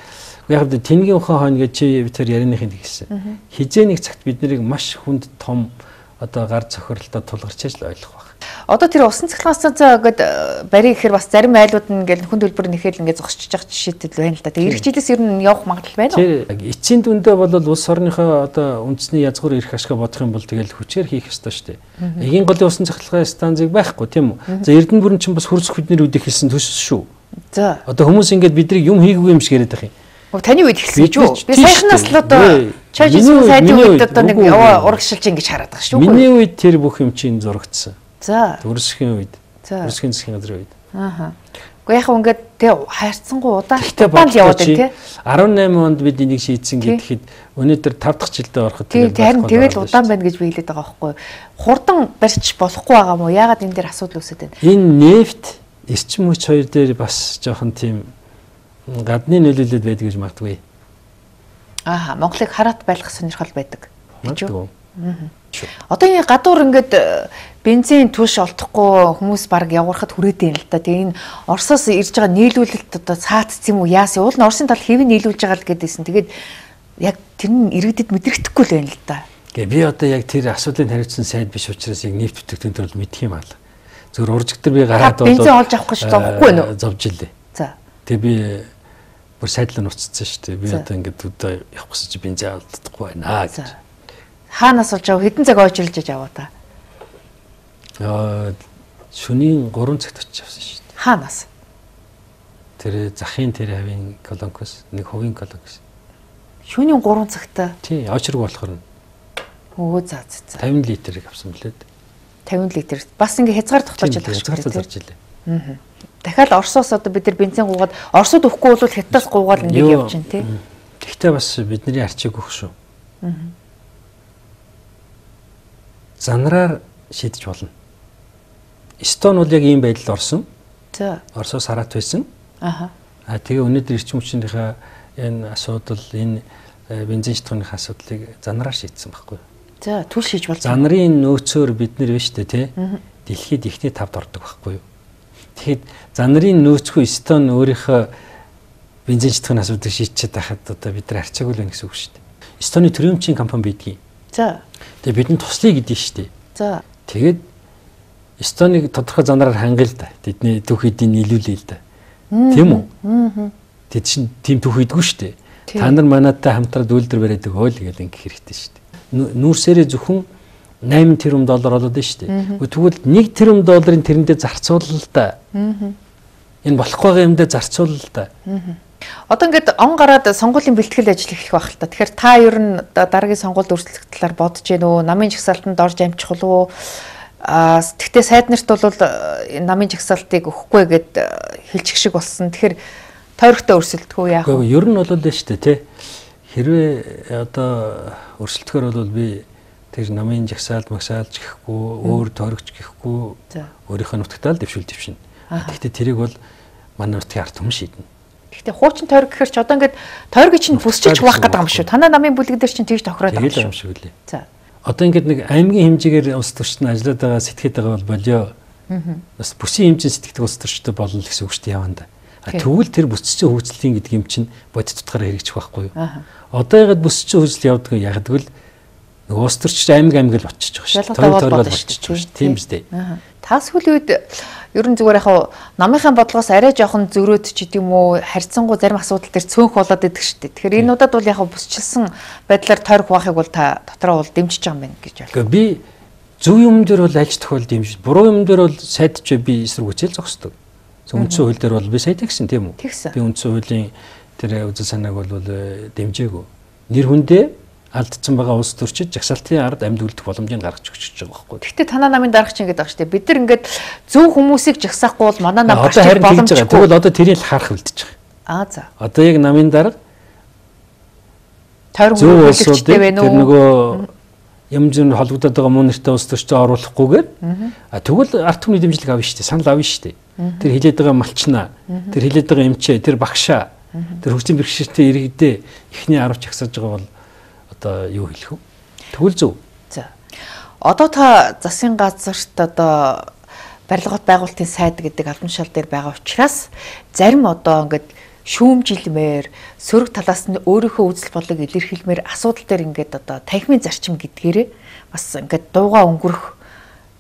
яг л тэнгийн ухаан хойно гэж чи тэр ярианыхын хэлсэн. Хизээ нэг цагт бид нарыг маш хүнд том одоо гар цохирлолтод тулгарч л ойлгох баг. Одоо тэр усан цахилгаан станцаа гээд барих гэхээр бас зарим айлууд нь ингээл хүн төлбөр нэхэл ингээд зогсчихж байгаа жишээтэй байна л да. Тэгээ эх жилээс ер нь явах магадлал байна уу? Тэр эцсийн дүндээ бол улс орныхоо одоо үндэсний язгуур эрх ашгаа бодох юм бол тэгэл хүчээр хийх ёстой шүү дээ. Эгийн голын усан цахилгаан станцыг байхгүй тийм үү? За Эрдэнэ бүрэн чинь бас хөрсөх бидний үдих хэлсэн төс шүү. За. Одоо хүмүүс ингээд бидрийг юм хийгээгүй юм шиг яриад байгаа юм. Таны үед хэлсэн гэж юу? Би сайхнаас л одоо чажис сайдын үед одоо нэг урагшилж ингэж хараад байгаа шүү. Миний үед тэр бүх юм чинь зурагдсан. За. Төрсхийн үед. Төрсхийн засгийн газрын үед. Ааха. Уу яг ингээд тэ хайрцангуй удаан яваад байна тий. десять онд бид энийг шийдсэн гэхэд өнөөдөр five дахь жилдээ ороход тэгээд тэгэл удаан байна гэж би хэлээд байгаа байхгүй. Хурдан барьж болохгүй байгаа мó. Яагаад энэ дээр асуудал үүсэж байна? Энэ нефт эрчим хүч хоёр дээр бас жоохон тийм гадны нөлөөлөл байдаг гэж магадгүй. Ааха, Монголыг хараат байлгах сонирхол байдаг. Гэж үү? Одоо энэ гадуур ингээд бензин түш олдохгүй хүмүүс баг явгарахад хүрээдэй юм л да. Тэгээ энэ Оросоос ирж байгаа нийлүүлэлт одоо цаатц юм уу яасан? Уул нь Оросын тал хэвэн нийлүүлж байгаа л гэдээсэн. Тэгээд яг тэр нь иргэдэд мэдрэхдэггүй л байна л да. Гэ би одоо яг тэр асуудлыг хариуцсан сайд биш учраас яг нефт бүтээгдэхүүн төрөл мэдх юм аа. Зөвхөн уржигдэр би гараад бол бензин олж авах гэж зовхгүй нөө. Зовж илээ. За. Тэгээ би бүр сайдлаа нуцсан шүү дээ. Би одоо ингээд өдөө явах гэсэн чи бензин алдахгүй байна гэж. Хаанаас олж авах хэдэн цаг ойжрлж аваа та? Аа шөнийн гурван цагт очиж авсан шүү дээ. Хаанаас? Тэр захын тэр хавийн колонкос, нэг хувийн колонкос. Шөнийн гурван цагтаа. Тий, очрог болохоор. Өө за за. тавин литрийг авсан билээ. тавин литр. Бас ингээ хязгаар тогтоож байгаа шүү дээ. Хязгаар зарж илээ. Аа. Дахиад Оросоос одоо бид нар бензин гуугаад Оросод өгөхгүй бол Хятадаас гуугаад ингээ явж чинь тий. Тэгтээ бас бидний арчиг өгөх шүү. Аа. Занараар шийдэж болно. Эстон бол яг ийм байдалд орсон. За. Оросоос хараат байсан. Аха. А тэгээ өнөөдөр эрчим хүчнийхээ энэ асуудал, энэ бензин шатхууны асуудлыг занараар шийдсэн байхгүй юу? За, түл шийдж болсон. Занарын нөөцөөр бид нар биш үү те? Дэлхийд ихний тавд ордог байхгүй юу? Тэгэхэд занарын нөөцгүй Эстон өөрийнхөө бензин шатхууны асуудлыг шийдчихэд байхад одоо бид нар арчаагүй л гэсэн үг шүү дээ. Эстоны төрөмчийн компани байдгийг. За. Тэгээ бидэнд туслая гэдэг шүү дээ. За. Тэгээд Эстоныг тодорхой занараар хангая л да. Тэдний түүх эдийн нийлүүлээ л да. Тийм үү? Аа. Тэд чинь тийм түүх идэггүй шүү дээ. Та нар манайтай хамтраад үйлдвэр бариад өгөө л гэдэг ингэх хэрэгтэй шүү дээ. Нүүрсээрээ зөвхөн восемь тэрбум доллар болоод байна шүү дээ. Тэгвэл нэг тэрбум долларын тэрэндээ зарцуулна л да. Энэ болохгүй байгаа юмдээ зарцуулна л да. Одоо ингээд он гараад сонгуулийн бэлтгэл ажил эхлэх байх л та. Тэгэхээр та ер нь дараагийн сонгуульд өрсөлдөх талаар бодож гэнэ үү? Намын жагсаалтанд орж амжих уу? Аа тэгтээ сайд нарт бол намын жагсаалтыг өгөхгүй гэд хэлчих шиг болсон. Тэгэхээр тойрогтой өрсөлдөх үү яах вэ? Ер нь бол л шүү дээ тий. Хэрвээ одоо өрсөлдөхөр бол би тэр намын жагсаалд магсаалж гэхгүй, өөр тойрогч гэхгүй өөрийнхөө нутагтаа л дэвшүүл дэвшинэ. Тэгтээ тэрийг бол манай нутгийн ард түмэн шийднэ. Гэхдээ хуучин тойрог гэхэр ч одоо ингээд тойрог чинь бүсчилж хуваах гэдэг юм шүү. Танай намын бүлэг дээр чинь тэгж тохироод байгаа юм шүү лээ. За. Одоо ингээд нэг аймгийн хэмжээгээр улс төрчид ажиллаад байгаа сэтгэхэд байгаа бол болио. Бас бүсийн хэмжээнд сэтгэдэг улс төрчид болно гэсэн үг шүү дээ яванда. Тэгвэл тэр бүсчийн хөгжлийн гэдэг юм чинь бодит утгаараа хэрэгжих байхгүй юу? Одоо ягаад бүсчийн хөгжил явдаг вэ? Яг тэгвэл нөгөө улс төрчид аймаг аймаг л очиж байгаа шүү. Тойрог тойрог очиж байгаа шүү. Тийм биз дээ. Та сүүлийн үед ер нь зүгээр яг намынхаа бодлогоос арай жоохон зөрөөд ч гэдэг юм уу харьцангуй зарим асуудал дээр цөөнх болоод идэг шүү дээ. Тэгэхээр энэ удаад бол яг бүсчилсан байдлаар тойрог хуваахыг бол та дотроо бол дэмжиж байгаа юм байна гэж байна. Би зөв юм дээр бол аль тохиолд дэмжиж, буруу юм дээр бол сайдч би эсрэг үчээл зогсдог. Үндсэн хууль дээр бол би сайд гэсэн тийм үү? Би үндсэн хуулийн тэр үзэл санааг бол дэмжээгүй. Нэр хүндээ алдсан байгаа улс төрчид жагсаалтын ард амьд үлдэх боломжийг гаргаж өгч байгаа байхгүй. Гэхдээ танаа намын дарагч ингэж байгаа шүү дээ. Бид нар ингээд зөв хүмүүсийг жагсаахгүй бол манай нам гарч ирэх боломжгүй. Тэгвэл одоо тэрийг харах үлдэж байгаа. Аа за. Одоо яг намын дарга тойрог үйлчлэгчтэй байна уу? Тэр нөгөө юм зүйн холбогдоод байгаа муу нэртэй улс төрчид оруулахгүйгээр а тэгвэл ард түмний дэмжлэг авна шүү дээ. Санал авна шүү дээ. Тэр хилээд байгаа малчнаа, тэр хилээд байгаа эмчээ, тэр багшаа, тэр хөгжлийн бэрхшээлтэй иргэдээ ихний арав чагсаж байгаа бол одоо юу хэлэх вэ? Тэгвэл зөв. За. Одоо та засгийн газарт одоо барилгын байгуулалтын сайд гэдэг албан тушаал дээр байгаа учраас зарим одоо ингээд шүүмжилмээр сөрөг талаас нь өөрийнхөө үзэл бодлыг илэрхийлмээр асуудал дээр ингээд одоо танхимын зарчим гэдгээрээ бас ингээд дууга өнгөрөх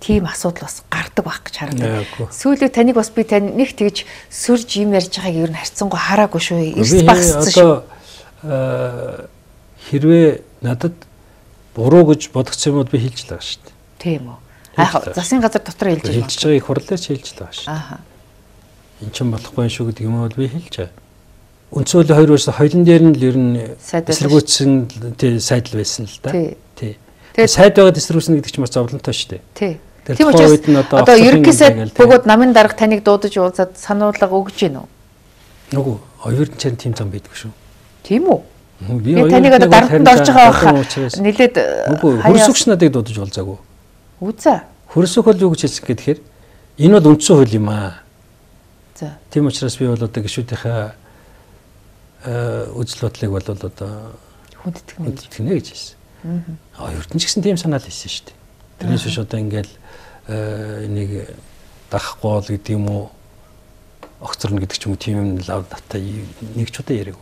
тийм асуудал бас гардаг байх гэж харагдав. Сүүлд таныг бас би тань нэг тэгж сөрж юм ярьж байгааг ер нь харьцангуй хараагүй шүү. Эрс багссан шүү. Одоо хэрвээ надад буруу гэж бодгоц юмуд би хэлж л байгаа шүү дээ. Тийм үү. Аа засгийн газар дотор хэлж байгаа. Хэлж байгаа их хурлаар ч хэлж л байгаа шүү. Аа. Энд ч болохгүй шүү гэдэг юм бол би хэлж байгаа. Үндсэн хуулийн хоёр વર્ષ хоёрын дээр нь л ер нь эсэргүүцсэн тий сайд л байсан л да. Тий. Тэгээ сайд байгаад эсэргүүцнэ гэдэг чинь бас зовлонтой шүү дээ. Тий. Тийм учраас одоо ерөнхий сайд бөгөөд намын дарга таныг дуудаж уулзаад сануулга өгж гин үү? Үгүй, оюутан чарын тим зам байдгүй шүү. Тийм үү? Би таныг одоо дарганд орж байгаа байх. Нилээд хөрсөгч надыг дуудаж уулзаагүй. Үзээ. Хөрсөх бол юу гэж хэлсэн гэхээр энэ бол үндсэн хууль юм аа. За. Тийм учраас би бол одоо гишүүдийнхээ үзэл бодлыг бол одоо хүндэтгэнэ гэж хэлсэн. Аа оюутан ч гэсэн тийм санаал хэлсэн шүү дээ. Тэрнээс биш одоо ингээл энийг дахгүй бол гэдэг юм уу огцорно гэдэг ч юм уу тийм юм лав дата нэг ч удаа яриаг.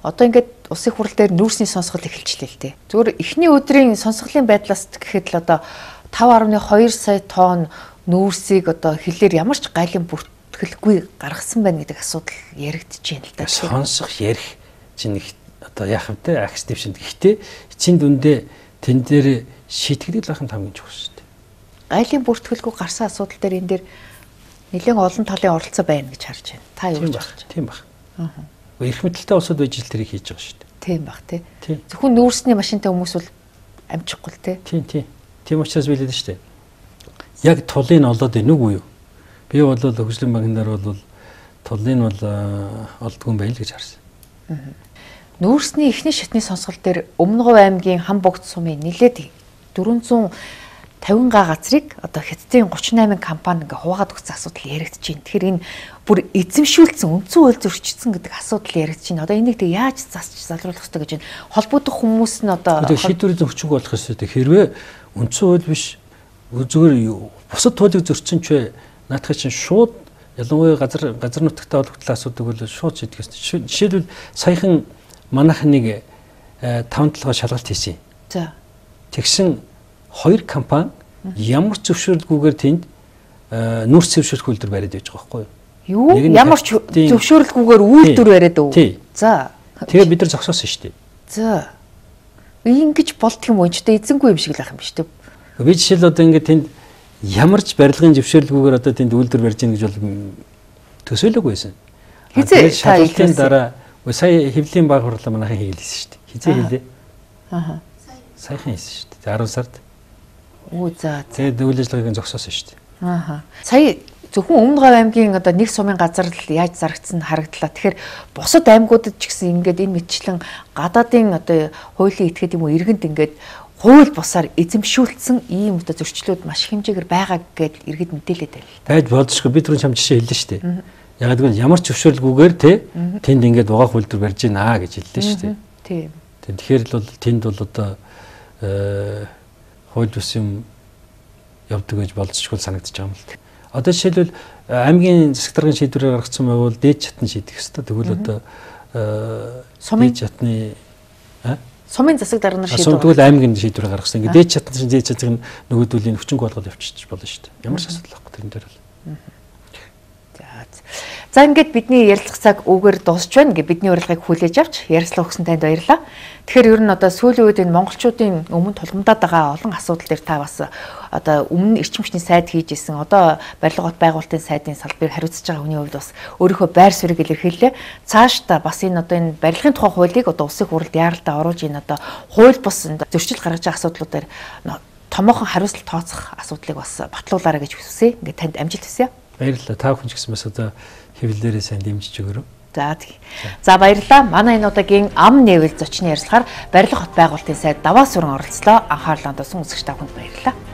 Одоо ингээд улсын хурал дээр нүүрсний сонсгол эхэлчихлээ л дээ. Зүгээр эхний өдрийн сонсголын байдлаас гэхэд л одоо five point two сая тонн нүүрсийг одоо хилээр ямар ч гайлын бүртгэлгүй гаргасан байна гэдэг асуудал яригдчихээн л да. Сонсох ярих чинь их одоо яах вэ? Акс дэвшинд. Гэхдээ эцсийн дүндээ тэн дээр шийтгэдэг л ахын хамгийн чухал шүү дээ. Гайлын бүртгэлгүй гарсан асуудал дээр энэ дээр нэлээд олон талын оролцоо байна гэж харж байна. Та юу гэж байна? Тийм баг. Аа. Эрх мэдэлтэй улсууд байж л тэрийг хийж байгаа шүү дээ. Тийм баг тий. Зөвхөн нүүрсний машинтай хүмүүс бол амжихгүй л тий. Тийм тийм. Тийм учраас билээд шүү дээ. Яг тулыг олоод байна уу юу? Би бол хөгжлийн банкнаар бол тулыг бол олдгүй байл гэж харсан. Нүүрсний эхний шатны сонсгол дээр Өмнөгов аймгийн Хамбогд сумын нилээд four fifty га газрыг одоо Хятадын thirty-eight компани ингээ хуваагаад өгсөн асуудал яригдж байна. Тэгэхээр энэ бүр эзэмшүүлсэн үндсэн хууль зөрчигдсөн гэдэг асуудал яригдж байна. Одоо энийг тэг яаж засч залруулах хэрэгтэй гэж байна. Холбогдох хүмүүс нь одоо шийдвэрийн хүчинг болох хэрэгтэй. Хэрвээ үндсэн хууль биш зүгээр бусад хуулийг зөрчсөн ч наадах чинь шууд ялангуяа газар газар нутагтаа холбогдлоо асуудаг бол шууд шийдэх ёстой. Жишээлбэл саяхан манайх нэг таван толгой шалгалт хийсэн. За. Тэгсэн хоёр компани ямар ч зөвшөөрлгүйгээр тэнд нүүрс зөвшөөрөх үйлдвэр бариад байж байгаа байхгүй юу? Ямар ч зөвшөөрлгүйгээр үйлдвэр бариад өв. За. Тэгээ бид нар зогсоосон шүү дээ. За. Ингэж болдго юм уу? Ч одоо эзэнгүй юм шиг л ах юм биш үү? Би жишээл одоо ингээд тэнд ямар ч барилгын зөвшөөрлгүйгээр одоо тэнд үйлдвэр барьж ийн гэж бол төсөөлөөгүй байсан. Тэгээд шалгалтын дараа сая хэвлийн баг хурлаа манайхан хийлээсэн шүү дээ. Хизээ хийлээ. Аа. Саяхан хийсэн шүү дээ. арав сард. Оо за. Тэгээд үйл ажиллагааг зогсоосон шүү дээ. Аа. Сая зөвхөн Өмнө Говь аймгийн одоо нэг сумын газар л яаж зарагдсан харагдлаа. Тэгэхээр бусад аймагуудад ч гэсэн ингээд энэ мэтчлэн гадаадын одоо хуулийн этгээд юм уу иргэнд ингээд хууль бусаар эзэмшүүлсэн ийм одоо зөрчлүүд маш хэмжээгээр байгаа гэдээ иргэд мэдээлээд байл. Байж болзошгүй би түрүүн чам жишээ хэллээ шүү дээ. Яг гэвэл ямар ч зөвшөөрлгүйгээр те тэнд ингээд угаах үйлдвэр барьж гинэ гэж хэллээ шүү дээ. Тийм. Тэгэхээр л бол тэнд бол одоо хууль бус юм явдаг гэж болзошгүй санагдаж байгаа юм л. Одоо жишээлбэл аймгийн засаг даргын шийдвэрээр гаргасан байвал дээд чатны шийдэх ёстой. Тэгвэл одоо сумын чатны сумын засаг дарга нар шийдвэр. Тэгвэл аймгийн шийдвэрээр гаргасан. Ингээд дээд чатны дээд чатыг нөгөөдүүлийн хүчинг болгоод явчихчих болно шүү дээ. Ямар ч асуудал байхгүй тэрэн дээр бол. За ингээд бидний ярилцах цаг үүгээр дуусч байна. Ингээд бидний урилгыг хүлээж авч ярилцлага өгсөн танд баярлалаа. Тэгэхээр ер нь одоо сүүлийн үед энэ монголчуудын өмнө тулгамдаад байгаа олон асуудал дээр та бас одоо өмнө эрчим хүчний сайд хийж исэн одоо барилга хот байгуулалтын сайдын салбарыг хариуцж байгаа хүний хувьд бас өөрийнхөө байр суурийг илэрхийллээ. Цаашдаа бас энэ одоо энэ барилгын тухай хуулийг одоо улсын хурлд яаралдаа оруулж энэ одоо хууль бус зөрчил гаргаж байгаа асуудлуудаар томоохон хариуцлага тооцох асуудлыг бас батлуулаарай гэж хүсье. Ингээд танд амжилт хүсье. Баярлалаа. Та бүхэн ч гэсэн бас одоо хэвлэлээрээ сайн дэмжиж өгөрөө. За тий. За баярлалаа. Манай энэ удаагийн ам нээвэл зочны ярилцлагаар барилга хот байгуулалтын сайд Даваа сүрэн оролцлоо. Анхаарлаа хандуулсан үзэгч та бүхэнд баярлалаа.